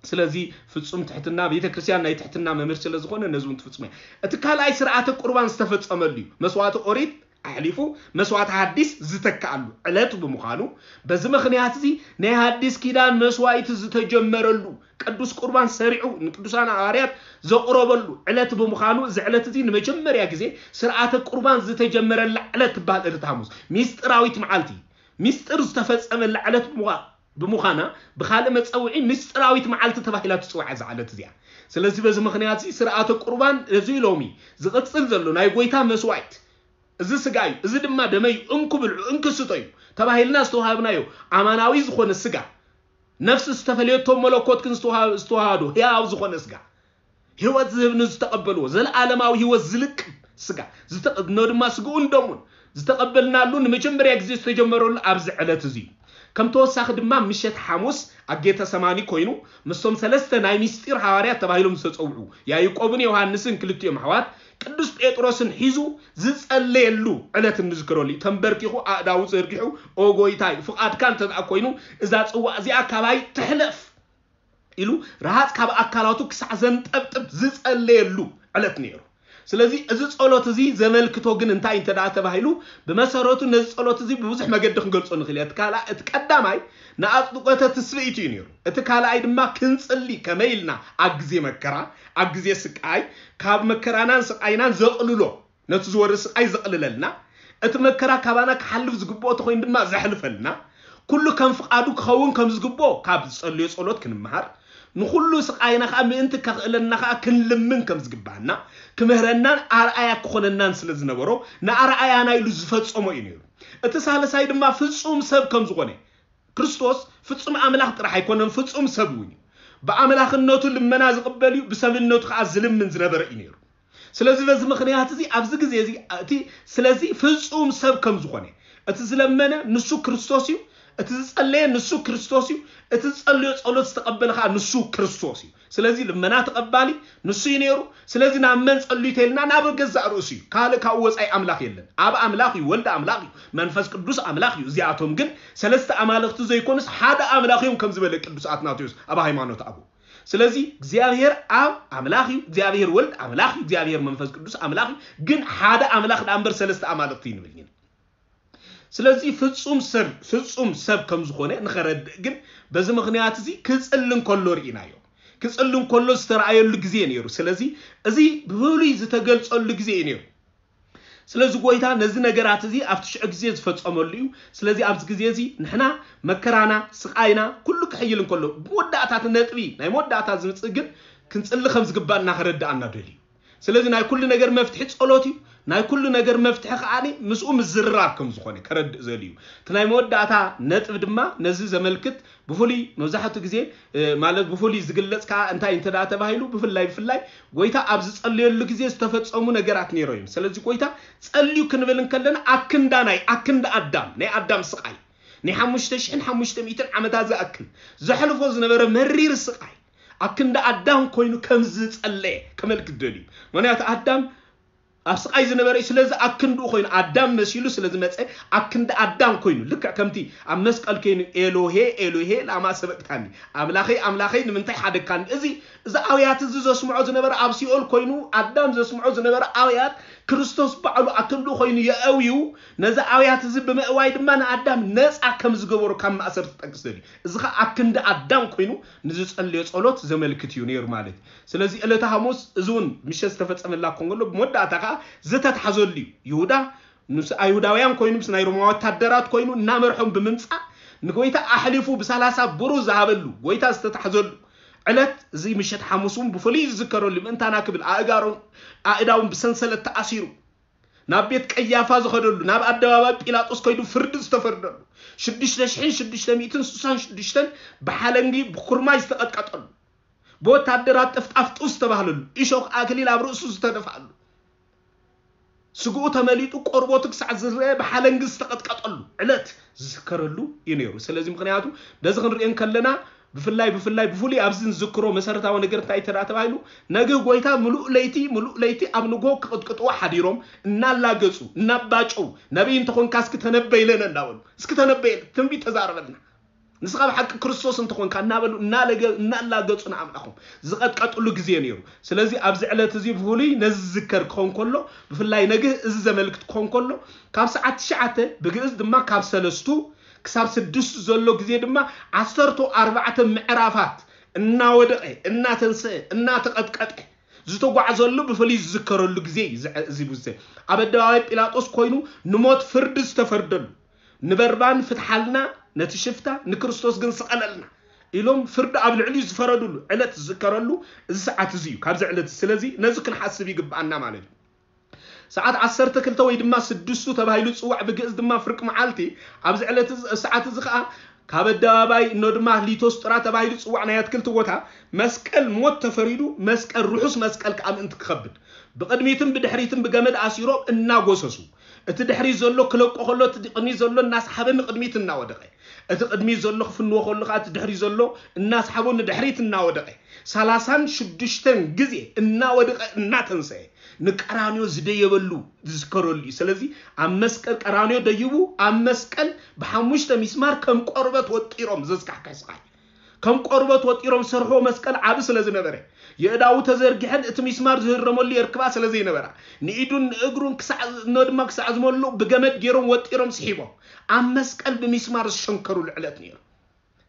ስለዚ ፍጹም ትሕትና፣ ቤተ ክርስቲያን ናይ ትሕትና መምህር ስለ ዝኾነ ነዚ እውን ትፍጽሞ እያ። እቲ ካልኣይ ስርዓተ ቁርባን ዝተፈጸመሉ እዩ። መስዋዕቲ ኦሪት ኣሕሊፉ መስዋዕቲ ሓዲስ ዝተካኣሉ ዕለት ብምዃኑ፣ በዚ ምኽንያት እዚ ናይ ሓዲስ ኪዳን መስዋዕቲ ዝተጀመረሉ፣ ቅዱስ ቁርባን ሰሪዑ ንቅዱሳን ሃዋርያት ዘቕረበሉ ዕለት ብምዃኑ፣ እዚ ዕለት እዚ ንመጀመርያ ግዜ ስርዓተ ቁርባን ዝተጀመረላ ዕለት ትበሃል ዕለት ሓሙስ። ሚስጥራዊት መዓልቲ፣ ሚስጥር ዝተፈጸመላ ዕለት ብምዃ-፣ ብምዃና፣ ብኻልእ መጸውዒ ሚስጥራዊት መዓልቲ ተባሂላ ትጽዋዕ እዛ ዕለት እዚኣ። ስለዚ በዚ ምኽንያት እዚ ስርዓተ ቁርባን እዚ ሎሚ ዝቕጽል ዘሎ ናይ ጎይታ መስዋዕት፣ እዚ ስጋ እዩ፣ እዚ ድማ ደመይ እዩ፣ እንኩ ብልዑ፣ እንኩ ስቶ እዩ ተባሂልና ዝተዋሃብናዮ ኣማናዊ ዝኾነ ስጋ፣ ነፍሲ ዝተፈለየቶ መለኮት ግን ዝተዋሃ-፣ ዝተዋሃዶ ህያው ዝኾነ ስጋ፣ ህይወት ዝህብ ንዝተቐበልዎ፣ ዘለዓለማዊ ህይወት ዝልቅም ስጋ፣ ዝተቐ-፣ ኖ ድማ ስግኡን ደሙን ዝተቐበልናሉ ንመጀመርያ ግዜ ዝተጀመረሉ ኣብዚ ዕለት እዚ እዩ። ከም ተወሳኺ ድማ ምሸት ሓሙስ ኣብ ጌተ ሰማኒ ኮይኑ ምስቶም ሰለስተ ናይ ሚስጢር ሃዋርያት ተባሂሎም ዝተጸውዑ ያዕቆብን ዮሃንስን ክልቲኦም ኣሕዋት ቅዱስ ጴጥሮስን ሒዙ ዝጸለየሉ ዕለት እንዝክረሉ እዩ። ተንበርኪኹ ኣእዳዉ ዘርጊሑ፣ "ኦ ጎይታይ፣ ፍቓድካ እንተ ደኣ ኮይኑ እዛ ጽዋእ እዚኣ ካባይ ትሕለፍ" ኢሉ ረሃጽ ካብ ኣካላቱ ክሳዕ ዘንጠብጥብ ዝጸለየሉ ዕለት ነይሩ። ስለዚ እዚ ጸሎት እዚ ዘመልክቶ ግን እንታይ እንተ ደኣ ተባሂሉ፣ ብመሰረቱ ነዚ ጸሎት እዚ ብብዙሕ መገዲ ክንገልጾ ንኽእል ኢና። እቲ ካልኣ-፣ እቲ ቀዳማይ ንኣጽድቆተ ትስብእቲ እዩ ነይሩ። እቲ ካልኣይ ድማ ክንጽሊ ከመይ ኢልና ኣብ ግዜ መከራ፣ ኣብ ግዜ ስቃይ፣ ካብ መከራናን ስቃይናን ዘቕልሎ፣ ነቲ ዝወርድ ስቃይ ዘቕልለልና፣ እቲ መከራ ካባና ክሓልፍ ዝግብኦ ተኾይኑ ድማ ዘሕልፈልና፣ ኩሉ ከም ፍቓዱ ክኸውን ከም ዝግብኦ ካብ ዝጸልዮ ጸሎት ክንመሃር፣ ንኹሉ ስቃይና ከኣ ምእንቲ ከኽእለና ከኣ ክንልምን ከም ዝግባኣና፣ ክምህረናን ኣርኣያ ክኾነናን ስለ ዝነበሮ፣ ንኣርኣያና ኢሉ ዝፈጸሞ እዩ ነይሩ። እቲ ሳልሳይ ድማ ፍጹም ሰብ ከም ዝኾነ፣ ክርስቶስ ፍጹም ኣምላኽ ጥራሕ ኣይኮነን፣ ፍጹም ሰብ እውን እዩ። ብኣምላኽነቱ ልመና ዝቕበል እዩ፣ ብሰብነቱ ከኣ ዝልምን ዝነበረ እዩ ነይሩ። ስለዚ በዚ ምኽንያት እዚ ኣብዚ ግዜ እዚ እቲ፣ ስለዚ ፍጹም ሰብ ከም ዝኾነ፣ እቲ ዝለመነ ንሱ ክርስቶስ እዩ፣ እቲ ዝጸለየ ንሱ ክርስቶስ እዩ፣ እቲ ዝጸለዮ ጸሎት ዝተቐበለ ከኣ ንሱ ክርስቶስ እዩ። ስለዚ ልመና ተቐባሊ ንሱ እዩ ነይሩ። ስለዚ ናብ መን ጸልዩ ተይልና ናብ ገዛእ ርእሱ እዩ። ካልእ ካብኡ ወጻኢ ኣምላኽ የለን። ኣብ ኣምላኽ እዩ፣ ወልድ ኣምላኽ እዩ፣ መንፈስ ቅዱስ ኣምላኽ እዩ። እዚኣቶም ግን ሰለስተ ኣማልኽቲ ዘይኮኑስ ሓደ ኣምላኽ እዮም ከም ዝበለ ቅዱስ ኣትናቴዎስ ኣብ ሃይማኖት ኣበው። ስለዚ እግዚኣብሔር ኣብ ኣምላኽ እዩ፣ እግዚኣብሔር ወልድ ኣምላኽ እዩ፣ እግዚኣብሔር መንፈስ ቅዱስ ኣምላኽ እዩ። ግን ሓደ ኣምላኽ ደኣ እምበር ሰለስተ ኣማልኽቲ ይንብል ኢና። ስለዚ ፍጹም ሰብ፣ ፍጹም ሰብ ከም ዝኾነ ንኸረድእ ግን በዚ ምኽንያት እዚ ክጽሊ እንከሎ ርኢናዮ። ክጽሊ እንከሎ ዝተረኣየሉ ግዜ ነይሩ። ስለዚ እዚ ብፍሉይ ዝተገልጸሉ ግዜ እዩ ነይሩ። ስለዚ ጎይታ ነዚ ነገራት እዚ ኣብቲ ሽዑ ግዜ ዝፈጸመሉ እዩ። ስለዚ ኣብዚ ግዜ እዚ ንሕና መከራና፣ ስቓይና ኩሉ ክሕይል እንከሎ፣ ብመወዳእታ እቲ ነጥቢ ናይ መወዳእታ ዝምጽእ ግን ክንጽሊ ከም ዝግባእና ከረድኣና ደልዩ። ስለዚ ናይ ኩሉ ነገር መፍትሒ ጸሎት እዩ። ናይ ኩሉ ነገር መፍትሒ ከኣ ምስኡ ምዝርራብ ከም ዝኾነ ከረድእ ዘልዩ። እቲ ናይ መወዳእታ ነጥቢ ድማ ነዚ ዘመልክት ብፍሉይ መብዛሕትኡ ግዜ፣ እ፣ ማለት ብፍሉይ ዝግለጽ ከኣ እንታይ እንተ ደኣ ተባሂሉ፣ ብፍላይ፣ ብፍላይ ጎይታ ኣብ ዝጸለየሉ ግዜ ዝተፈጸሙ ነገራት ነይሮ እዮም። ስለዚ ጎይታ ጸልዩ ክንብል እንከለና ኣክንዳ ናይ፣ ኣክንዳ ኣዳም፣ ናይ ኣዳም ስቓይ፣ ናይ ሓሙሽተ ሽሕን ሓሙሽተ ሚእትን ዓመታት ዝኣክል ዘሕልፎ ዝነበረ መሪር ስቓይ፣ ኣክንዳ ኣዳም ኮይኑ ከም ዝጸለየ ከመልክት ደልዩ። ምኽንያቱ ኣዳም ኣብ ስቓይ ዝነበረ እዩ። ስለዚ ኣክንድኡ ኮይኑ ኣዳም መሲሉ ስለ ዝመፀ ኣክንዲ ኣዳም ኮይኑ ልክዕ ከምቲ ኣብ መስቀል ኮይኑ ኤሎሄ ኤሎሄ ላማ ሰበቅታኒ ኣምላኸይ ኣምላኸይ ንምንታይ ሓደግካኒ እዚ እዚ ኣውያት እዚ ዘስምዖ ዝነበረ ኣብ ሲኦል ኮይኑ ኣዳም ዘስምዖ ዝነበረ ኣውያት ክርስቶስ ባዕሉ ኣክንድኡ ኮይኑ የእውዩ ነዚ ኣውያት እዚ ብምእዋይ ድማ ንኣዳም ነፃ ከም ዝገበሩ ካብ ማእሰር ትጠቅስ ዘድዩ እዚ ከዓ ኣክንዲ ኣዳም ኮይኑ ንዝፀለዮ ፀሎት ዘመልክት እዩ ነይሩ ማለት እዩ ስለዚ ዕለተ ሓሙስ እዚ እውን ምሸት ዝተፈፀመላ ክኾን ከሎ ብመወዳእታ ከዓ ዝተትሓዘሉ እዩ ይሁዳ ምስ ኣይሁዳውያን ኮይኑ ምስ ናይ ሮማ ወታደራት ኮይኑ እናመርሖም ብምምፃእ ንጎይታ ኣሕሊፉ ብሰላሳ ብሩር ዝሃበሉ ጎይታ ዝተታሕዘሉ ዕለት እዚ ምሸት ሓሙስ እውን ብፍሉይ ዝዝከረሉ ምእንታና ክብል ኣእጋሮን ኣእዳውን ብሰንሰለት ተኣሲሩ ናብ ቤት ቀያፋ ዝኸደሉ ናብ ኣደባባይ ጲላጦስ ከይዱ ፍርዲ ዝተፈርደሉ ሽዱሽተ ሽሕን ሽዱሽተ ሚእትን ስሳን ሽዱሽተን ብሓለንጊ ብኩርማይ ዝተቐጥቀጠሉ ብወታደራት ጥፍጣፍ ጡብ ዝተባህለሉ እሾኽ ኣክሊል ኣብ ርእሱ ዝተደፍኣሉ ስግኡ ተመሊጡ ቆርቦቱ ክሳዕ ዝረአ ብሓለንጊ ዝተቐጥቀጠሉ ዕለት ዝዝከረሉ እዩ ነይሩ ስለዚ ምክንያቱ ነዚ ክንሪኦ ከለና ብፍላይ ብፍላይ ብፍሉይ ኣብዚ ንዝክሮ መሰረታዊ ነገር እንታይ ተዳ ተባሂሉ ነግህ ጎይታ ምሉእ ለይቲ ምሉእ ለይቲ ኣብ ንጎ ክቕጥቅጥዎ ሓዲሮም እናላገጹ እናባጨው ነቢይ እንተኾንካ እስኪ ተነበይለነ እናበሉ እስኪ ተነበየለ ትንቢት ተዛረበልና ንስኻ ብሓቂ ክርስቶስ እንተኾንካ እናበሉ እናላገጹ ንኣምላኾም ዝቐጥቀጥሉ ግዜ ነይሩ ስለዚ ኣብዚ ዕለት እዚ ብፍሉይ ነዚ ዝዝከር ክኸውን ከሎ ብፍላይ ነግህ እዚ ዘመልክት ክኸውን ከሎ ካብ ሰዓት ትሽዓተ ብግእዝ ድማ ካብ ሰለስቱ ክሳብ ስድስቱ ዘሎ ግዜ ድማ ዓሰርተ ኣርባዕተ ምዕራፋት እናወደቐ እናተንስአ እናተቐጥቀጠ ዝተጓዕዘሉ ብፍሉይ ዝዝከረሉ ግዜ እዩ እዚ ግዜ ኣብ ኣደባባይ ጲላጦስ ኮይኑ ንሞት ፍርዲ ዝተፈርደሉ ንበርባን ፍትሓልና ነቲ ሽፍታ ንክርስቶስ ግን ስቐለልና ኢሎም ፍርዲ ኣብ ልዕሊኡ ዝፈረድሉ ዕለት ዝዝከረሉ እዚ ሰዓት እዚ እዩ ካብዚ ዕለት ስለዚ ነዚ ክንሓስብ ይግብኣና ማለት እዩ ሰዓት ዓሰርተ ክልተ ወይ ድማ ስድስቱ ተባሂሉ ዝፅዋዕ ብግእዝ ድማ ፍርቂ መዓልቲ ኣብዚ ዕለት እዚ- ሰዓት እዚ ከዓ ካብ ኣደባባይ እኖ ድማ ሊቶስጥራ ተባሂሉ ዝፅዋዕ ናይ ኣትክልቲ ቦታ መስቀል ሞት ተፈሪዱ መስቀል ርሑስ መስቀል ከዓ ምእንቲ ክኸብድ ብቕድሚትን ብድሕሪትን ብገመድ ኣሲሮም እናጎሰሱ እቲ ድሕሪት ዘሎ ክለቆ ከሎ እቲ ቅድሚት ዘሎ እናስሓበ ንቅድሚት እናወደቐ እቲ ቅድሚት ዘሎ ክፍንዎ ከሎ ከዓ እቲ ድሕሪት ዘሎ እናስሓቦ ንድሕሪት እናወደቐ ሰላሳን ሽዱሽተን ግዜ እናወደቐ እናተንሰአ ንቀራንዮ ዝደየበሉ ዝዝከረሉ እዩ። ስለዚ ኣብ መስቀል ቀራንዮ ደይቡ ኣብ መስቀል ብሓሙሽተ ሚስማር ከም ቆርበት ወጢሮም ዘዝካሕካሕ ስቃይ ከም ቆርበት ወጢሮም ዝሰርሕዎ መስቀል ዓቢ ስለ ዝነበረ የእዳዉ ተዘርጊሐን እቲ ሚስማር ዝህረመሉ የርክባ ስለ ዘይነበራ ንኢዱን ንእግሩን ክሳዕ እኖ ድማ ክሳዕ ዝመልኡ ብገመድ ገይሮም ወጢሮም ስሒቦም ኣብ መስቀል ብሚስማር ዝሸንከሩሉ ዕለት ነይሩ።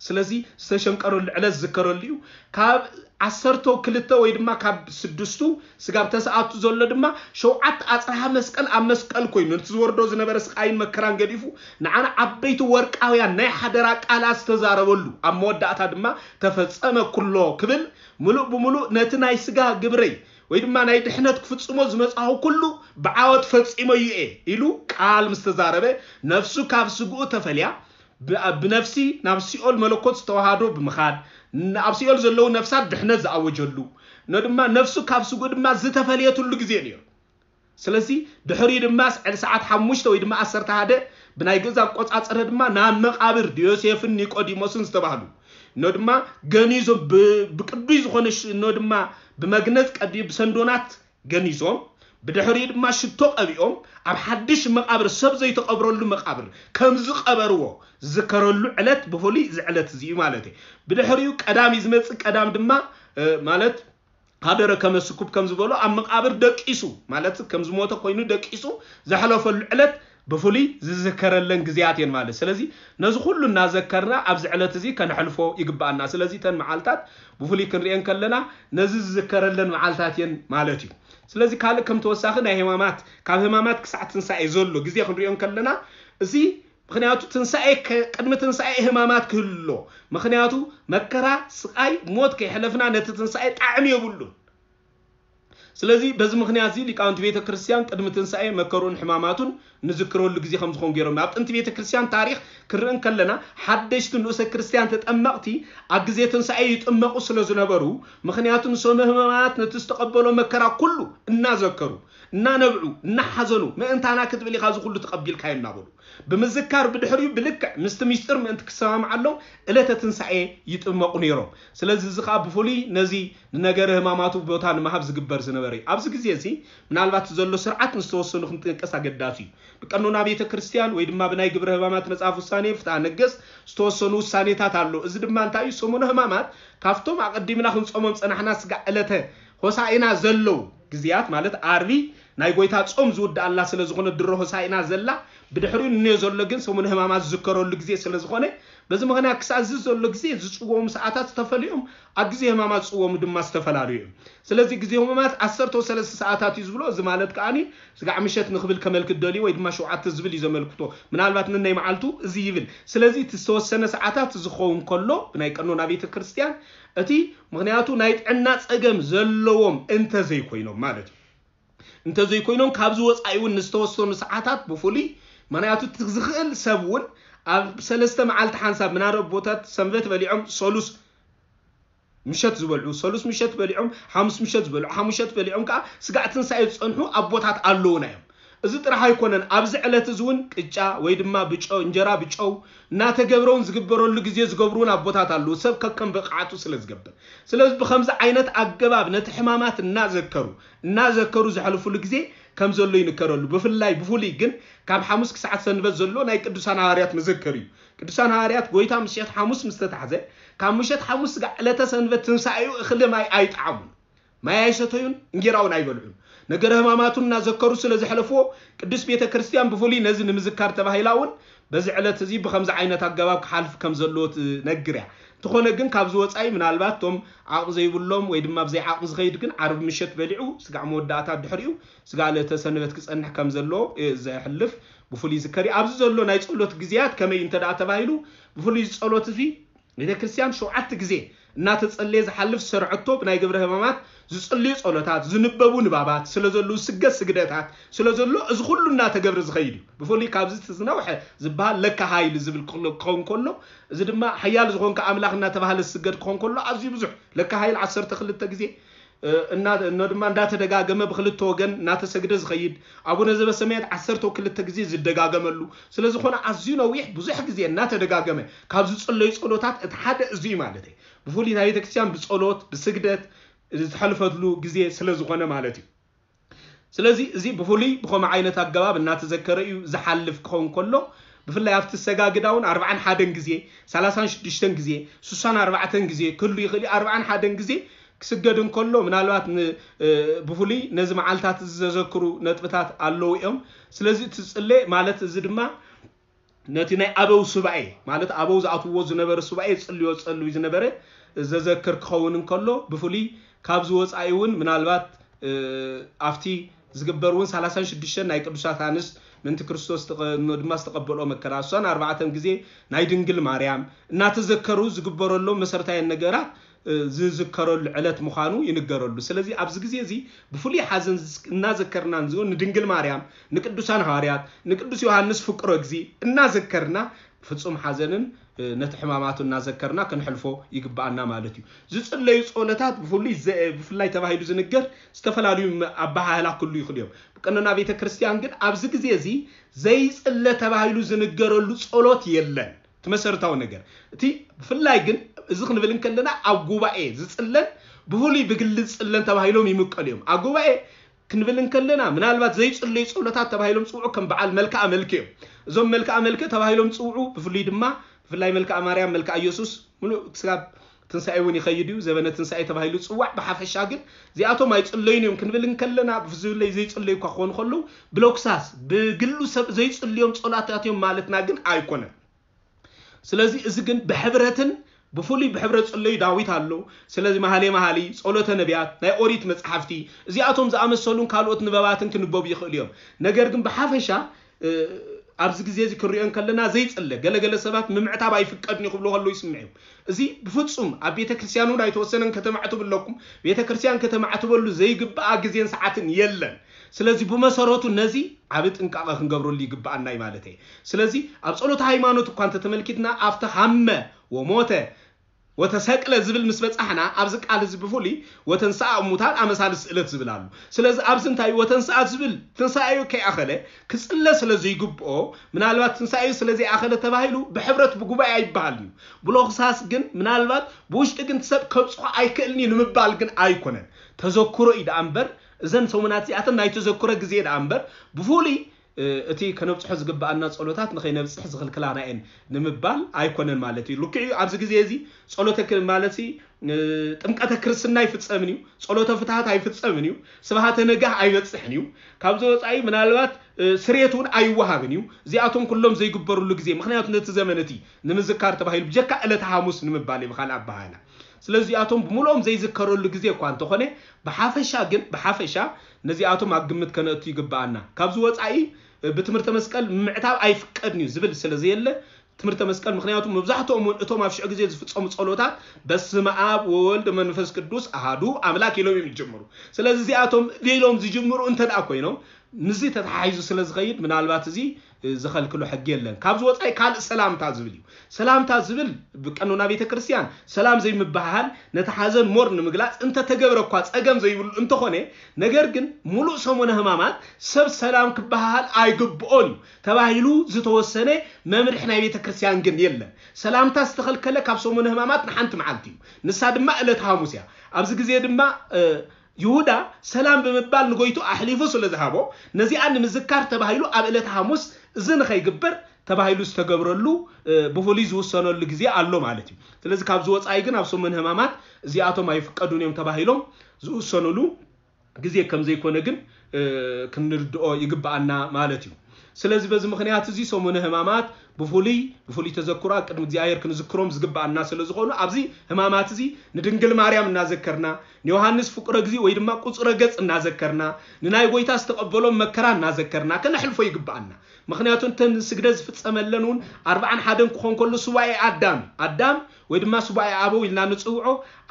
ስለዚ ዝተሸንቀረሉ ዕለት ዝዝከረሉ እዩ። ካብ ዓሰርተ ክልተ ወይ ድማ ካብ ስድስቱ ስጋብ ተሰኣቱ ዘሎ ድማ ሸውዓተ ኣፅርሃ መስቀል ኣብ መስቀል ኮይኑ ነቲ ዝወርዶ ዝነበረ ስቃይን መከራን ገዲፉ ንዓና ዓበይቲ ወርቃውያን ናይ ሓደራ ቃላት ዝተዛረበሉ ኣብ መወዳእታ ድማ ተፈጸመ ኩሎ ክብል ምሉእ ብምሉእ ነቲ ናይ ስጋ ግብረይ ወይ ድማ ናይ ድሕነት ክፍጽሞ ዝመጽኣኹ ኩሉ ብዓወት ፈጺመ እየ ኢሉ ቃል ምስ ተዛረበ ነፍሱ ካብ ስግኡ ተፈልያ ብነፍሲ ናብ ሲኦል መለኮት ዝተዋሃዶ ብምኻድ ኣብ ሲኦል ዘለዉ ነፍሳት ድሕነት ዝኣወጀሉ ነ ድማ ነፍሱ ካብ ስጉ ድማ ዝተፈለየትሉ ግዜ ነይሩ። ስለዚ ድሕሪኡ ድማ ሰዓት ሓሙሽተ ወይ ድማ ዓሰርተ ሓደ ብናይ ግእዝ ኣቆጻጽረ ድማ ናብ መቓብር ዮሴፍን ኒቆዲሞስን ዝተባህሉ ነ ድማ ገኒዞም ብቅዱይ ዝኾነ ነ ድማ ብመግነዝ ቀዲ ብሰንዶናት ገኒዞም ብድሕሪኡ ድማ ሽቶ ቀቢኦም ኣብ ሓድሽ መቓብር ሰብ ዘይተቐብረሉ መቓብር ከም ዝቐበርዎ ዝዝከረሉ ዕለት ብፍሉይ እዚ ዕለት እዚ እዩ ማለት እዩ። ብድሕሪኡ ቀዳም እዩ ዝመፅእ። ቀዳም ድማ ማለት ሃደረ ከመስኩብ ከም ዝበሎ ኣብ መቓብር ደቂሱ ማለት ከም ዝሞተ ኮይኑ ደቂሱ ዘሕለፈሉ ዕለት ብፍሉይ ዝዝከረለን ግዜያት እየን ማለት። ስለዚ ነዚ ኩሉ እናዘከርና ኣብዚ ዕለት እዚ ከነሕልፎ ይግብኣና። ስለዚ እተን መዓልታት ብፍሉይ ክንሪኤን ከለና ነዚ ዝዝከረለን መዓልታት እየን ማለት እዩ። ስለዚ ካልእ ከም ተወሳኺ ናይ ህማማት ካብ ህማማት ክሳዕ ትንሳኤ ዘሎ ግዜ ክንሪኦ ከለና እዚ ምክንያቱ ትንሳኤ ቅድሚ ትንሳኤ ህማማት ክህሉ ኣሎ። ምክንያቱ መከራ፣ ስቃይ፣ ሞት ከይሕለፍና ነቲ ትንሳኤ ጣዕሚ የብሉን። ስለዚ በዚ ምክንያት እዚ ሊቃውንቲ ቤተ ክርስቲያን ቅድሚ ትንሳኤ መከርኡን ሕማማቱን ንዝክረሉ ግዜ ከም ዝኾን ገይሮም ኣብ ጥንቲ ቤተ ክርስቲያን ታሪክ ክርኢ እንከለና ሓደሽቲ ንኡሰ ክርስቲያን ተጠመቕቲ ኣብ ግዜ ትንሳኤ ይጥመቑ ስለ ዝነበሩ ምክንያቱ ንሰሙነ ሕማማት ነቲ ዝተቐበሎ መከራ ኩሉ እናዘከሩ እናነብዑ እናሓዘኑ ምእንታና ክትብል ኢኻ እዚ ኩሉ ተቐቢልካዮ እናበሉ ብምዝካር ብድሕሪኡ ብልክዕ ምስቲ ሚስጥር ምእንቲ ክሰማምዓሎም ዕለተ ትንሳኤ ይጥመቑ ነይሮም። ስለዚ እዚ ከዓ ብፍሉይ ነዚ ንነገረ ህማማቱ ቦታ ንምሃብ ዝግበር ዝነበረ እዩ። ኣብዚ ግዜ እዚ ምናልባት ዘሎ ስርዓት ንዝተወሰኑ ክንጥቀስ ኣገዳሲ እዩ። ብቀኖና ቤተ ክርስቲያን ወይ ድማ ብናይ ግብረ ሕማማት መጽሐፍ ውሳኔ ፍትሐ ነገስት ዝተወሰኑ ውሳኔታት ኣሎ። እዚ ድማ እንታይ እዩ? ሰሙነ ሕማማት ካብቶም ኣቐዲምና ክንጾሞም ጸናሕና ስጋዕ ዕለተ ሆሳኢና ዘለዉ ግዜያት ማለት ዓርቢ ናይ ጎይታ ጾም ዝውድኣላ ስለ ዝኾነ ድሮ ሆሳኢና ዘላ ብድሕሪኡ ንንዮ ዘሎ ግን ሰሙነ ሕማማት ዝዝከረሉ ግዜ ስለ ዝኾነ በዚ ምኽንያት ክሳብ እዚ ዘሎ ግዜ ዝጽወሙ ሰዓታት ዝተፈልዮም ኣብ ግዜ ሕማማት ዝጽወሙ ድማ ዝተፈላለዩ እዮም። ስለዚ ግዜ ሕማማት ዓሰርተ ሰለስተ ሰዓታት እዩ ዝብሎ። እዚ ማለት ከዓኒ ስጋዕ ምሸት ንኽብል ከመልክት ደልዩ ወይ ድማ ሸውዓተ ዝብል እዩ ዘመልክቶ። ምናልባት ንናይ መዓልቱ እዚ ይብል። ስለዚ እቲ ዝተወሰነ ሰዓታት ዝኸውን ከሎ ብናይ ቀኖና ቤተ ክርስቲያን እቲ ምኽንያቱ ናይ ጥዕና ጸገም ዘለዎም እንተ ዘይኮይኖም ማለት እዩ። እንተ ዘይኮይኖም ካብዚ ወጻኢ እውን ንዝተወሰኑ ሰዓታት ብፍሉይ ምኽንያቱ እቲ ዝኽእል ሰብ እውን ኣብ ሰለስተ መዓልቲ ሓንሳብ ምናልባት ቦታት ሰንበት በሊዖም ሰሉስ ምሸት ዝበልዑ ሰሉስ ምሸት በሊዖም ሓሙስ ምሸት ዝበልዑ ሓሙሸት በሊዖም ከዓ ስጋዕ ትንሳኤ ዝፀንሑ ኣቦታት ኣለዉና እዮም። እዚ ጥራሕ ኣይኮነን። ኣብዚ ዕለት እዚ እውን ቅጫ ወይ ድማ ብጨው እንጀራ ብጨው እናተገብረውን ዝግበረሉ ግዜ ዝገብሩን ኣቦታት ኣለዉ፣ ሰብ ከከም ብቕዓቱ ስለ ዝገብር። ስለዚ ብኸምዚ ዓይነት ኣገባብ ነቲ ሕማማት እናዘከሩ እናዘከሩ ዘሕልፉሉ ግዜ ከም ዘሎ ይንከረሉ። ብፍላይ ብፍሉይ ግን ካብ ሓሙስ ክሳዕ ሰንበት ዘሎ ናይ ቅዱሳን ሃዋርያት መዘከር እዩ። ቅዱሳን ሃዋርያት ጎይታ ምሸት ሓሙስ ምስ ተታሕዘ ካብ ምሸት ሓሙስ ስጋዕ ዕለተ ሰንበት ትንሳኤኡ እኽሊ ማይ ኣይጠዓሙን። ማይ ኣይሰተዩን፣ እንጌራ እውን ኣይበልዑን። ነገረ ሕማማቱ እናዘከሩ ስለ ዘሕለፍዎ ቅዱስ ቤተ ክርስቲያን ብፍሉይ ነዚ ንምዝካር ተባሂላ እውን በዚ ዕለት እዚ ብኸምዚ ዓይነት ኣገባብ ክሓልፍ ከም ዘለዎ ትነግር እያ። እንተኾነ ግን ካብዚ ወፃኢ ምናልባት እቶም ዓቕሚ ዘይብሎም ወይ ድማ ብዘይ ዓቕሚ ዝኸይድ ግን ዓርቢ ምሸት በሊዑ ስጋዕ መወዳእታ ድሕሪኡ ስጋዕ ዕለተ ሰንበት ክፀንሕ ከም ዘለዎ ዘሕልፍ ብፍሉይ ዝከር እዩ። ኣብዚ ዘሎ ናይ ጸሎት ግዜያት ከመይ እንተ ደኣ ተባሂሉ ብፍሉይ ጸሎት እዚ ቤተ ክርስቲያን ሸውዓተ ግዜ እናተጸለየ ዝሓልፍ ዝሰርዐቶ ብናይ ግብረ ሕማማት ዝጽልዩ ጸሎታት ዝንበቡ ንባባት ስለ ዘለዉ ስገድ ስግደታት ስለ ዘሎ እዚ ኩሉ እናተገብረ ዝኸይድ እዩ። ብፍሉይ ካብዚ እቲ ዝነውሐ ዝበሃል ለካ ሃይል ዝብል ክሎ- ክኸውን ከሎ እዚ ድማ ሓያል ዝኾንካ ኣምላኽ እናተባህለ ዝስገድ ክኸውን ከሎ ኣዝዩ ብዙሕ ለካ ሃይል ዓሰርተ ክልተ ግዜ እና እኖ ድማ እንዳተደጋገመ ብክልተ ወገን እናተሰግደ ዝኸይድ ኣቡነ ዘበሰማያት ዓሰርተ ክልተ ግዜ ዝደጋገመሉ ስለ ዝኾነ ኣዝዩ ነዊሕ ብዙሕ ግዜ እናተደጋገመ ካብ ዝጽለዩ ጸሎታት እቲ ሓደ እዚ እዩ ማለት እዩ። ብፍሉይ ናይ ቤተክርስትያን ብጸሎት ብስግደት ዝሕልፈትሉ ግዜ ስለ ዝኾነ ማለት እዩ። ስለዚ እዚ ብፍሉይ ብኸምኡ ዓይነት ኣገባብ እናተዘከረ እዩ ዝሓልፍ ክኸውን ከሎ ብፍላይ ኣብቲ ሰጋግዳ እውን ኣርባዓን ሓደን ግዜ ሰላሳን ሽዱሽተን ግዜ ሱሳን ኣርባዕተን ግዜ ክህሉ ይኽእል እዩ። ኣርባዓን ሓደን ግዜ ክስገድ እንከሎ ምናልባት ን- እ፣ ብፍሉይ ነዚ መዓልታት እዚ ዘዘክሩ ነጥብታት ኣለዉ እዮም። ስለዚ እቲ ጽሌ ማለት እዚ ድማ ነቲ ናይ ኣበው ሱባኤ ማለት ኣበው ዝኣትውዎ ዝነበረ ሱባኤ ዝጽልዮ ዝጸልዩ ዝነበረ ዘዘክር ክኸውን እንከሎ ብፍሉይ ካብዚ ወጻኢ እውን ምናልባት እ፣ ኣብቲ ዝግበር እውን ሰላሳን ሽዱሽተን ናይ ቅዱሳት ኣንስት ምእንቲ ክርስቶስ ተቐ- ድማ ዝተቐበልኦ መከራ እሷን ኣርባዕተን ግዜ ናይ ድንግል ማርያም እናተዘከሩ ዝግበረሎም መሰረታውያን ነገራት እ፣ ዝዝከረሉ ዕለት ምዃኑ ይንገረሉ። ስለዚ ኣብዚ ግዜ እዚ ብፍሉይ ሓዘን ዝስ- እናዘከርና ንዝውን ንድንግል ማርያም ንቅዱሳን ሃዋርያት ንቅዱስ ዮሃንስ ፍቁረ እግዚ እናዘከርና ፍጹም ሓዘንን እ፣ ነቲ ሕማማቱ እናዘከርና ክንሕልፎ ይግብኣና ማለት እዩ። ዝጽለዩ ጸሎታት ብፍሉይ ዘ- ብፍላይ ተባሂሉ ዝንገር ዝተፈላለዩ መ- ኣበሃህላ ክህሉ ይኽእሉ እዮም። ብቀኖና ቤተ ክርስቲያን ግን ኣብዚ ግዜ እዚ ዘይጽለ ተባሂሉ ዝንገረሉ ጸሎት የለን። እቲ መሰረታዊ ነገር እቲ ብፍላይ ግን እዚ ክንብል እንከለና ኣብ ጉባኤ ዝጽለን ብፍሉይ ብግሊ ዝጽለን ተባሂሎም ይምቀሉ እዮም። ኣብ ጉባኤ ክንብል እንከለና ምናልባት ዘይጽለዩ ጸሎታት ተባሂሎም ዝጽውዑ ከም በዓል መልክዓ መልክ እዮም። እዞም መልክዓ መልክ ተባሂሎም ዝጽውዑ ብፍሉይ ድማ ብፍላይ መልክዓ ማርያም መልክዓ ኢየሱስ ምሉእ ክሳብ ትንሳኤ እውን ይኸይድ እዩ። ዘበነ ትንሳኤ ተባሂሉ ዝጽዋዕ ብሓፈሻ ግን እዚኣቶም ኣይጽለዩን እዮም ክንብል እንከለና ብፍላይ ዘይጽለዩ እኳ ክኾኑ ከለዉ ብሎክሳስ ብግሉ ሰብ ዘይጽልዮም ጸሎታት እዮም ማለትና ግን ኣይኮነን። ስለዚ እዚ ግን ብሕብረትን ብፍሉይ ብሕብረት ጽለዩ ዳዊት ኣሎ። ስለዚ መሃሌ መሃሊ ጸሎተ ነቢያት ናይ ኦሪት መጽሓፍቲ እዚኣቶም ዝኣመሰሉን ካልኦት ንበባትን ክንበቡ ይኽእሉ እዮም። ነገር ግን ብሓፈሻ እ፣ ኣብዚ ግዜ እዚ ክንሪኦ እንከለና ዘይጽለ ገለገለ ሰባት ምምዕታብ ኣይፍቀድን እዩ ክብሉ ከለዉ ይስምዕ እዩ። እዚ ብፍጹም ኣብ ቤተ ክርስቲያን እውን ኣይተወሰነን ከተማዕትቡ ኣለኩም። ቤተ ክርስቲያን ከተማዕትበሉ ዘይግብኣ ግዜን ሰዓትን የለን። ስለዚ ብመሰረቱ ነዚ ዓቢ ጥንቃቐ ክንገብረሉ ይግብኣና እዩ ማለት እየ። ስለዚ ኣብ ጸሎተ ሃይማኖት እኳ እንተተመልኪትና ኣብቲ ሃመ ወሞተ ወተሰቅለ ዝብል ምስ በጻሕና ኣብዚ ቃል እዚ ብፍሉይ ወተንስኣ እሙታን ኣመሳሊ ስእለት ዝብል ኣሎ። ስለዚ ኣብዚ እንታይ እዩ ወተንስኣ ዝብል ትንሳኤኡ ከይኣኸለ ክጽለ ስለ ዘይግብኦ ምናልባት ትንሳኤኡ ስለ ዘይኣኸለ ተባሂሉ ብሕብረት ብጉባኤ ኣይበሃልን እዩ። ብሎኽሳስ ግን ምናልባት ብውሽጢ ግን ሰብ ከብጽሖ ኣይክእልን እዩ ንምባል ግን ኣይኮነን። ተዘክሮ እዩ ደኣ እምበር እዘን ሰሙናት እዚኣተን ናይ ተዘክሮ ግዜ ደኣ እምበር፣ ብፍሉይ እቲ ከነብፅሖ ዝግበኣና ጸሎታት ንኸይነብፅሕ ዝኽልክላና እየን ንምባል ኣይኮነን ማለት እዩ። ልክዕ እዩ፣ ኣብዚ ግዜ እዚ ጸሎተ ማለት ጥምቀተ ክርስትና ኣይፍጸምን እዩ፣ ጸሎተ ፍትሃት ኣይፍጸምን እዩ፣ ስብሃተ ነጋህ ኣይበጽሕን እዩ። ካብዚ ወፃኢ ምናልባት ስሬት እውን ኣይወሃብን እዩ። እዚኣቶም ኩሎም ዘይግበርሉ ግዜ፣ ምክንያቱ ነቲ ዘመን እቲ ንምዝካር ተባሂሉ ብጀካ ዕለተ ሓሙስ ንምባል እዩ ብካልእ ኣባሃህላ። ስለዚኣቶም ብምልኦም ዘይዝከረሉ ግዜ እኳ እንተኾነ፣ ብሓፈሻ ግን ብሓፈሻ ነዚኣቶም ኣብ ግምት ከነእቱ ይግበኣና። ካብዚ ወፃኢ ብትምህርተ መስቀል ምምዕታብ ኣይፍቀድን እዩ ዝብል ስለ ዘየለ፣ ትምህርተ መስቀል፣ ምክንያቱ መብዛሕትኦም እውን እቶም ኣብ ሽዑ ግዜ ዝፍፀሙ ጸሎታት በስመ ኣብ ወወልድ መንፈስ ቅዱስ ኣሃዱ ኣምላክ ኢሎም እዮም ዝጀምሩ። ስለዚ እዚኣቶም ኢሎም ዝጅምሩ እንተ ደኣ ኮይኖም፣ ምስዚ ተተሓሒዙ ስለ ዝኸይድ ምናልባት እዚ ዝኸልክሎ ሕጊ የለን። ካብዚ ወፃኢ ካልእ ሰላምታ ዝብል እዩ። ሰላምታ ዝብል ብቀኖና ቤተ ክርስቲያን ሰላም ዘይምበሃሃል ነቲ ሓዘን ሞር ንምግላፅ እንተተገብረ እኳ ፀገም ዘይብሉ እንተኾነ፣ ነገር ግን ሙሉእ ሰሙነ ሕማማት ሰብ ሰላም ክበሃሃል ኣይግብኦን እዩ ተባሂሉ ዝተወሰነ መምርሒ ናይ ቤተ ክርስቲያን ግን የለን። ሰላምታ ዝተኸልከለ ካብ ሰሙነ ሕማማት ንሓንቲ መዓልቲ እዩ። ንሳ ድማ ዕለት ሓሙስ እያ። ኣብዚ ግዜ ድማ ይሁዳ ሰላም ብምባል ንጎይቱ ኣሕሊፉ ስለ ዝሃቦ፣ ነዚኣ ንምዝካር ተባሂሉ ኣብ ዕለተ ሓሙስ እዚ ንኸይግበር ተባሂሉ ዝተገብረሉ ብፍሉይ ዝውሰነሉ ግዜ ኣሎ ማለት እዩ። ስለዚ ካብዚ ወፃኢ ግን ኣብ ሰሙን ሕማማት እዚኣቶም ኣይፍቀዱን እዮም ተባሂሎም ዝውሰኑሉ ግዜ ከም ዘይኮነ ግን ክንርድኦ ይግበኣና ማለት እዩ። ስለዚ በዚ ምክንያት እዚ ሰሙነ ሕማማት ብፍሉይ ብፍሉይ ተዘክሮ ኣብ ቅድሚ እግዚኣብሔር ክንዝክሮም ዝግበኣና ስለ ዝኾኑ ኣብዚ ሕማማት እዚ ንድንግል ማርያም እናዘከርና፣ ንዮሃንስ ፍቁረ እግዚእ ወይ ድማ ቁጽረ ገጽ እናዘከርና፣ ንናይ ጎይታ ዝተቐበሎም መከራ እናዘከርና ከነሕልፎ ይግበኣና። ምክንያቱ እንተን ስግደት ዝፍጸመለን እውን ኣርብዓን ሓደን ክኾን ከሎ ሱባኤ ኣዳም ኣዳም ወይ ድማ ሱባኤ ኣበው ኢልና ንጽውዖ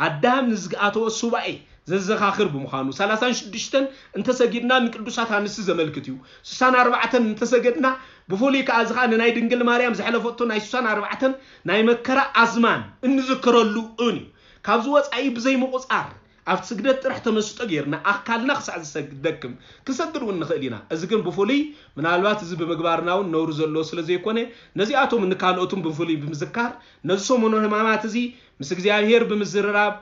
ኣዳም ንዝኣተወ ሱባኤ ዘዘኻኽር ብምዃኑ፣ ሰላሳን ሽዱሽተን እንተሰጊድና ንቅዱሳት ኣንስቲ ዘመልክት እዩ። ስሳን ኣርባዕተን እንተሰገድና ብፍሉይ ከኣ እዚ ከኣ ንናይ ድንግል ማርያም ዘሕለፈቶ ናይ ስሳን ኣርባዕተን ናይ መከራ ኣዝማን እንዝክረሉ እውን እዩ። ካብዚ ወፃኢ ብዘይ ምቁፃር ኣብቲ ስግደት ጥራሕ ተመስጦ ጌርና ኣካልና ክሳዕ ዝሰግድ ደክም ክንሰግድ እውን ንኽእል ኢና። እዚ ግን ብፍሉይ ምናልባት እዚ ብምግባርና እውን ነውሪ ዘለዎ ስለ ዘይኮነ ነዚኣቶም ንካልኦትን ብፍሉይ ብምዝካር ነዚ ሰሙነ ሕማማት እዚ ምስ እግዚኣብሔር ብምዝርራብ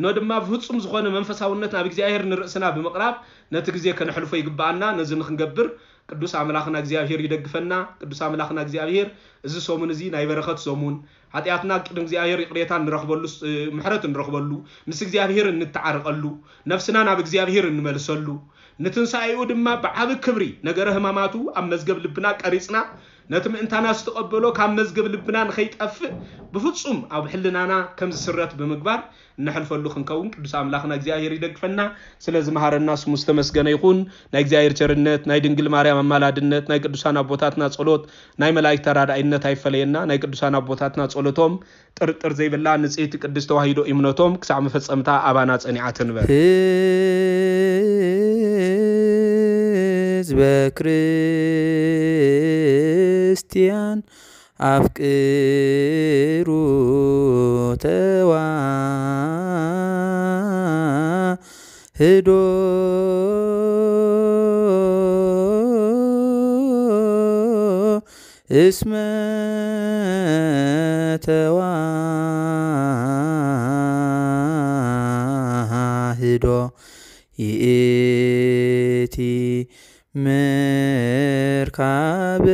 ኖ ድማ ብፍጹም ዝኾነ መንፈሳውነት ናብ እግዚኣብሔር ንርእስና ብምቕራብ ነቲ ግዜ ከነሕልፎ ይግበኣና። ነዚ ንክንገብር ቅዱስ ኣምላኽና እግዚኣብሔር ይደግፈና። ቅዱስ ኣምላኽና እግዚኣብሔር እዚ ሰሙን እዚ ናይ በረኸት ሰሙን፣ ሓጢኣትና ቅድሚ እግዚኣብሔር ይቕሬታ እንረኽበሉ፣ ምሕረት እንረኽበሉ፣ ምስ እግዚኣብሔር እንተዓረቐሉ፣ ነፍስና ናብ እግዚኣብሔር እንመልሰሉ፣ ንትንሳኤኡ ድማ ብዓቢ ክብሪ ነገረ ሕማማቱ ኣብ መዝገብ ልብና ቀሪጽና፣ ነቲ ምእንታና ዝተቐበሎ ካብ መዝገብ ልብና ንኸይጠፍእ ብፍጹም ኣብ ሕልናና ከም ዝስረት ብምግባር እነሕልፈሉ ክንከውን ቅዱስ ኣምላኽና እግዚኣብሔር ይደግፈና። ስለዚ መሃረና ስሙ ዝተመስገነ ይኹን። ናይ እግዚኣብሔር ቸርነት፣ ናይ ድንግል ማርያም ኣማላድነት፣ ናይ ቅዱሳን ኣቦታትና ጸሎት፣ ናይ መላእክት ተራዳኢነት ኣይፈለየና። ናይ ቅዱሳን ኣቦታትና ጸሎቶም ጥርጥር ዘይብላ ንጽሕቲ ቅድስት ተዋሂዶ እምነቶም ክሳዕ መፈጸምታ ኣባና ጸኒዓ ትንበር። ህዝበ ክርስቲያን ኣፍቅሩ ተዋህዶ እስመ ተዋህዶ ይእቲ ምርካብ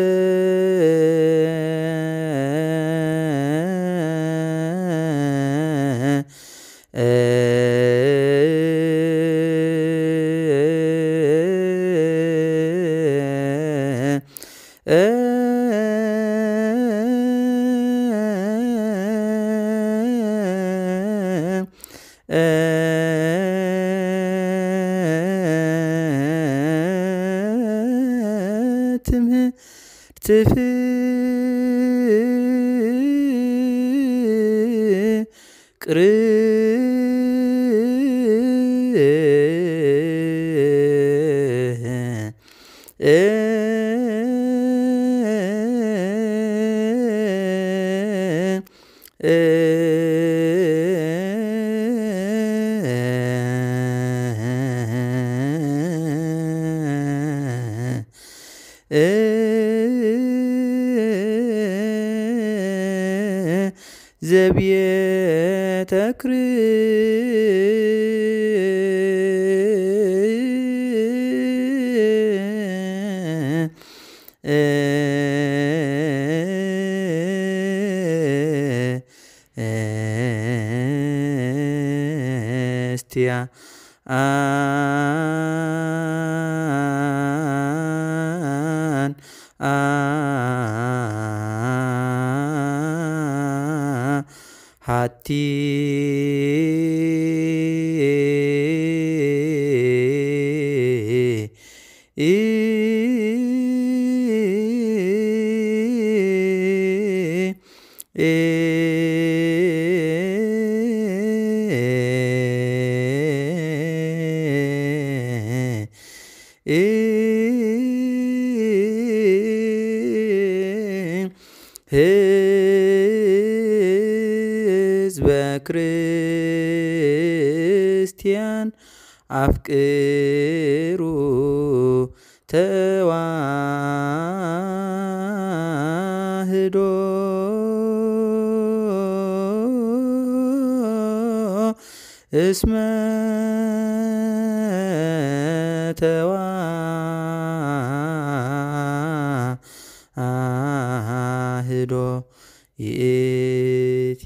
ትምህርት ፍቅር ዘቤተ ክርስቲያን ክርስቲያን ኣን ኣሃቲ ህዝበ ክርስቲያን ኣፍቅሩ ተዋህዶ እስመ ተዋህዶ ይእቲ።